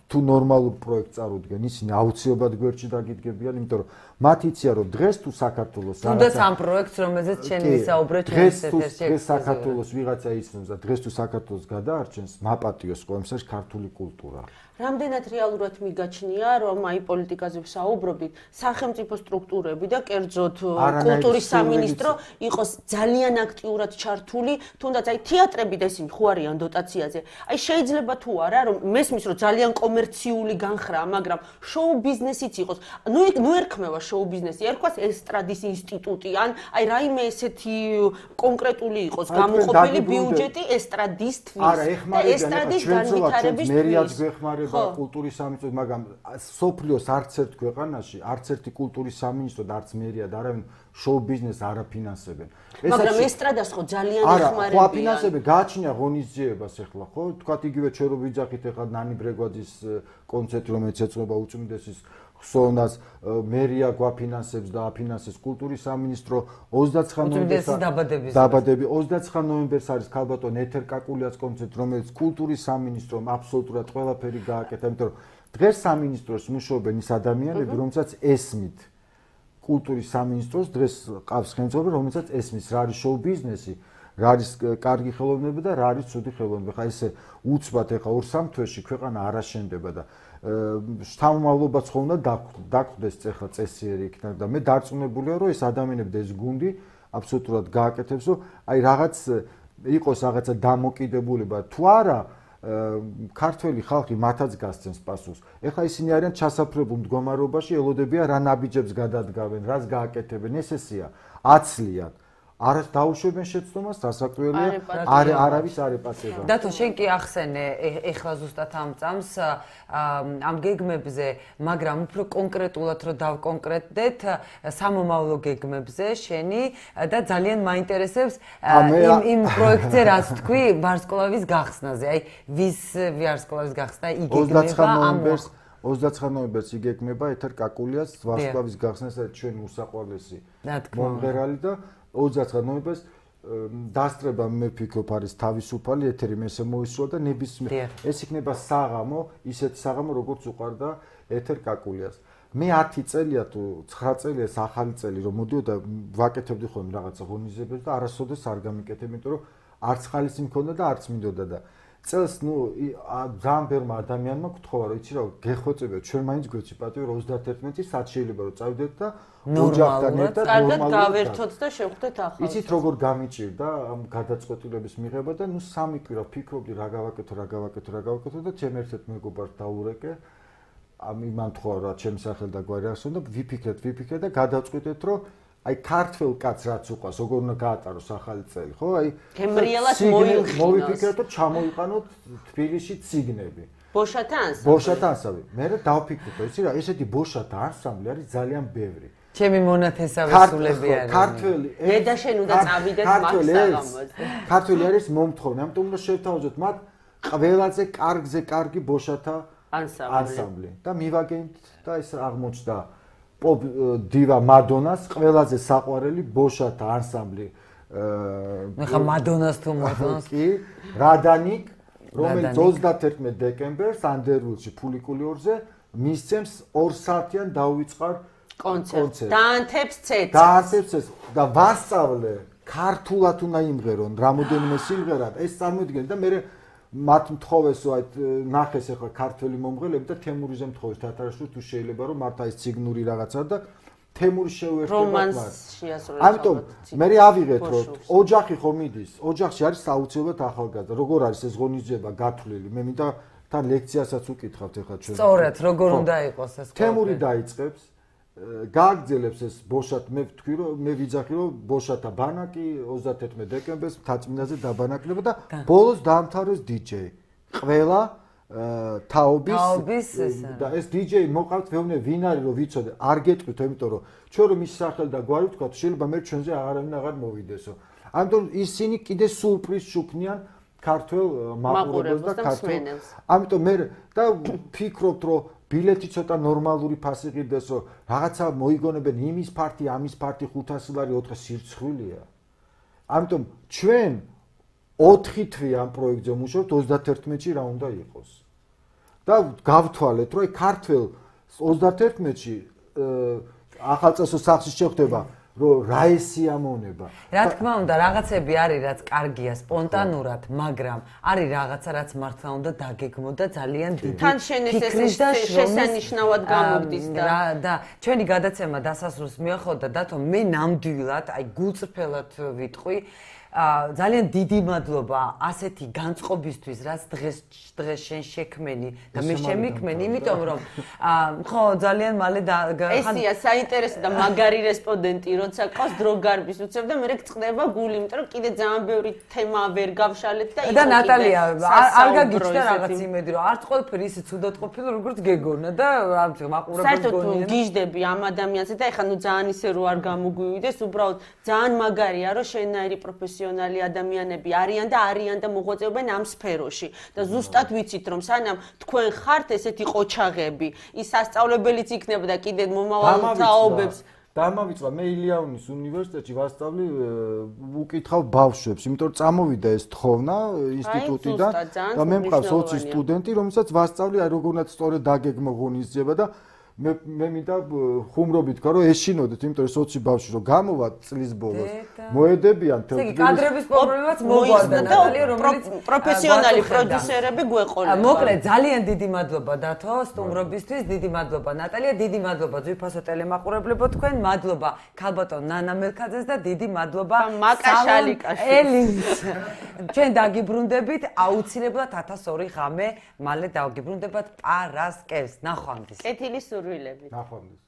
თუ ნორმალურ პროექტს წარუდგენ, ისინი აუცილებლად გვერდში დაგიდგებიან, იმიტომ რომ მათ იციან, რომ დღეს თუ საქართველოს თუნდაც ამ პროექტს, რომელზეც შენ ვისაუბრე ჩვენს ეთერში, დღეს საქართველოს ვიღაცა ისმის და დღეს თუ საქართველოს გადაარჩენს, მაპატიოს ყოველმსაში ქართული კულტურა. რამდენად რეალურად მიგაჩნია, რომ აი პოლიტიკაზე ვსაუბრობთ, სახელმწიფო სტრუქტურები და კერძოდ კულტურის სამინისტრო იყოს ძალიან აქტიურად ჩართული, თუნდაც აი თეატრები და ისინი ხო არიან დოტაციაზე. აი შეიძლება თუ არა, რომ მესმის რომ ძალიან კომერციული განხრაა, მაგრამ შოუ ბიზნესიც იყოს. ნუ ნუ ერქმევა შოუ ბიზნესი, ერქვას ესტრადის ინსტიტუტი ან აი რაიმე ესეთი კონკრეტული იყოს გამოყოფილი ბიუჯეტი ესტრადისთვის და ესტრადის განვითარებისთვის. კულტურის სამინისტროს, მაგრამ სოფლიოს არც ერთ ქვეყანაში, არც ერთი კულტურის სამინისტრო და არც მერია და არავინ შოუ ბიზნესს არ აფინანსებენ. მაგრამ ესტრადას ხო ძალიან ეხმარებიან. არა, ხო აფინანსებენ, გააჩნია ღონისძიებას ახლა, ხო? თქვათ იგივე ჩვენ რო ვიძახით ახლა ნანი ბრეგვაძის კონცერტი, რომელიც ეწოდება უწმინდესის ხსოვნას, მერია გვაფინანსებს და აფინანსებს კულტურის სამინისტრო ოცდაცხრა ნოემბერს დაბადები ოცდაცხრა ნოემბერს არის ქალბატონ ეთერ კაკულიას კონცერტი, რომელიც კულტურის სამინისტრომ აბსოლუტურად ყველაფერი გააკეთა, იმიტომ რომ დღეს სამინისტროს მუშაობენ ის ადამიანები, რომელსაც ესმით კულტურის სამინისტროს დღეს ყავს ხელმძღვანელი, რომელსაც ესმის რა არის შოუ ბიზნესი, რა არის კარგი ხელოვნება და რა არის ცუდი ხელოვნება. ხა ესე უცბად ახლა ორ სამ თვეში ქვეყანა არ აშენდება და შთამომავლობაც ხო უნდა დაგვხვდეს ახლა წესიერი იქნება და მე დარწმუნებულია რომ ეს ადამიანები და ეს გუნდი აბსოლუტურად გააკეთებს რომ აი რაღაც იყოს რაღაცა დამოკიდებულება თუ არა ქართველი ხალხი მათაც გასცემს პასუხს. ეხლა ისინი არიან ჩასაფრებულ მდგომარეობაში, ელოდებიან რა ნაბიჯებს გადადგავენ, რას გააკეთებენ, ეს ესეა, აცლიან. არ დაუშვებენ შეცდომას, დასაკვირველია, არ არავის არ ეპასება. დათო, შენ კი ახსენე ეხლა ზუსტად ამ წამს ამ გეგმებზე, მაგრამ უფრო კონკრეტულად რო დავკონკრეტდეთ, სამომავლო გეგმებზე შენი და ძალიან მაინტერესებს იმ იმ პროექტზე რაც თქვი ვარსკვლავის გახსნაზე. აი, ვის ვარსკვლავის გახსნა იგეგმება ამ ოცდაცხრა ნოემბერს იგეგმება ეთერ კაკულიას ვარსკვლავის გახსნას და ჩვენ უსაყვარლესი მომღერალი და ოცდაცხრა ნოემბერს დასწრება მე ვფიქრობ არის თავისუფალი ეთერი მესე მოისვა და ნებისმიერ ეს იქნება საღამო, ისეთი საღამო როგორც უყარდა ეთერ კაკულიას. მე ათი წელია თუ ცხრა წელია ეს ახალი წელი რომ მოდიოდა ვაკეთებდი ხოლმე რაღაცა ღონისძიებებს და არასოდეს არ გამიკეთებ, იმიტომ რომ არც ხალისი მქონდა და არც მინდოდა და წელს ნუ ძალიან ბევრმა ადამიანმა გთხოვა რომ იცი რა გეხვეწებიათ ჩვენ მაინც გვეცი პატივი რომ ოცდაათერთმეტი საათი შეიძლება რომ წავიდეთ და ოჯახთან ერთად ნორმალურად გავერთოთ და შევხვდეთ ახალს. იცით როგორ გამიჭირდა ამ გადაწყვეტილების მიღება და ნუ სამი კვირა ფიქრობდი რა გავაკეთო, რა გავაკეთო, რა გავაკეთო და ჩემ ერთ-ერთ მეგობარს დაურეკე. ამ იმან თქვა რა ჩემს სახელს და გვარი ახსოვნა და ვიფიქრეთ, ვიფიქრეთ და გადავწყვიტეთ რომ აი ქართველ კაცს რაც უყვას, როგორ უნდა გაატაროს ახალი წელი, ხო? აი გემრიელად მოილხინოს. მოვიფიქრეთ რომ ჩამოიყვანოთ თბილისში ციგნები. ბოშათა ანსამბლი. ბოშათა ანსამბლი. მე დავფიქრეთ, იცი რა, ესეთი ბოშათა ანსამბლი არის ძალიან ბევრი. ჩემი მონათესავე სულები არის. ქართველი. მე და შენ უნდა წავიდეთ მაქსაღამოზე. ქართველი არის მომთხოვნა, ამიტომ უნდა შევთავაზოთ მათ ყველაზე კარგზე კარგი ბოშათა ანსამბლი და მივაგენთ და ეს აღმოჩნდა პოპ დივა მადონას ყველაზე საყვარელი ბოშათა ანსამბლი. მე ხა მადონას თუ მადონას კი, რადანიკ, რომელიც ოცდაათერთმეტი დეკემბერს ანდერვილში ფულიკულიორზე მისცემს ორ საათიან დაუვიწყარ კონცერტს. დაანთებს ცეცს. დაანთებს ცეცს და ვასწავლე ქართულად უნდა იმღერონ რამოდენიმე სიმღერა. ეს წარმოიდგინეთ და მე მათ მთხოვესო აი ნახეს ახლა ქართველი მომღერლები და თემურიზე მთხოვეს თათარაშვილს თუ შეიძლება რომ მართა ის ციგნური რაღაცა და თემური შეუერთდება მათ. ამიტომ მე ავიღეთ რომ ოჯახი ხო მიდის, ოჯახში არის აუცილებლად ახალგაზრდა. როგორ არის ეს ღონისძიება გათვლილი? მე მინდა თან ლექციასაც უკითხავთ ახლა ჩვენ. სწორედ, როგორ უნდა იყოს ეს? თემური დაიწყებს გააგრძელებს ეს ბოშათ მე ვთქვი რომ მე ვიძახი რომ ბოშათა ბანაკი ოცდაათერთმეტი დეკემბერს მთაწმინდაზე დაბანაკდება და ბოლოს დაამთავრეს დიჯეი. ყველა თაობის და ეს დიჯეი მოყავთ ვეუბნე ვინ არის რომ ვიცოდე არ გეტყვით იმიტომ რომ ჩვენ რომ ის სახელი და გვარი ვთქვათ შეიძლება მე ჩვენზე არავინ აღარ მოვიდესო. ამიტომ ისინი კიდე სულპრის შუქნიან ქართველ მაყურებელს და ქართველ ამიტომ მე და ფიქრობთ რომ ბილეთი ცოტა ნორმალური ფასი ღირდეს რომ რაღაცა მოიგონებენ იმის ფარტი, ამის ფარტი ხუთასი ლარი, ოთხი სირცხვილია. ამიტომ ჩვენ ოთხი თვე ამ პროექტზე მუშაობთ ოცდაათერთმეტში რა უნდა იყოს. და გავთვალეთ, რომ ქართველ ოცდაათერთმეტში ახალწესო სახლში შეხვდება რომ რა ესიამონება. რა თქმა უნდა, რაღაცები არის, რაც კარგია სპონტანურად, მაგრამ არის რაღაცა, რაც მართლა უნდა დაგეგმო და ძალიან დიდი თან შენეს ეს შესანიშნავად გამოგდის და და ჩვენი გადაცემა დასასრულს მიახლოვდა დათო, მე ნამდვილად, აი გულწრფელად ვიტყვი, ძალიან დიდი მადლობა ასეთი განწყობისთვის, რაც დღეს დღეს შენ შექმენი და მე შემიქმენი, იმიტომ რომ ხო ძალიან მალე ესია საინტერესო და მაგარი რესპონდენტი, როცა ყავს დრო გარბის უცებ და მე გწდება გული, იმიტომ რომ კიდე ძალიან ბევრი თემა ვერ გავშალეთ და და ნატალია არ გაგიჩნდა რაღაც იმედი, რომ არც ყველაფერი ისე ცუდად ყოფილა, როგორც გეგონა და ამით მაყურებელს გონია. საერთოდ გიждები ამ ადამიანზე და ეხლა ნუ ძალიან ისე რო არ გამოგვივიდეს, უბრალოდ ძალიან მაგარია, რომ შენაირი პროფესიონალი ადამიანები არიან და არიან და მოღვაწეობენ ამ სფეროში და ზუსტად ვიცით რომ სანამ თქვენ ხართ ესეთი ყოჩაღები ის სასწავლებელიც იქნება და კიდე მომავალ თაობებს დამავიწვა მე ილიაუნის უნივერსიტეტში ვასწავლი უკითხავ ბავშვებს იმიტომ რომ წამოვიდა ეს თხოვნა ინსტიტუტიდან და მე მყავს ოცი სტუდენტი რომელსაც ვასწავლი აი როგორ უნდა სწორედ დაგეგმო ღონისძიება და მე მე მინდა ხუმრობით ვქო რომ ეშინოდეთ იმიტომ რომ ოცი ბავშვი რომ გამოვა წლის ბოლოს მოედებიან თელ იგი კადრების პრობლემაც მოგვარდა ნატალია რომელიც პროფესიონალი პროდიუსერები გვეყოლება მოკლედ ძალიან დიდი მადლობა დათო სტუმრობისთვის დიდი მადლობა ნატალია დიდი მადლობა ძვირფასო ტელემაყურებლებო თქვენ მადლობა ქალბატონ ნანა მელქაძეს და დიდი მადლობა მაკაშალიკაშვილს ელინს ჩვენ დაგიბრუნდებით აუცილებლად ათას ორი ღამე მალე დაგიბრუნდებათ პარასკევს ნახვამდის კეთილი სურვილებით ნახვამდის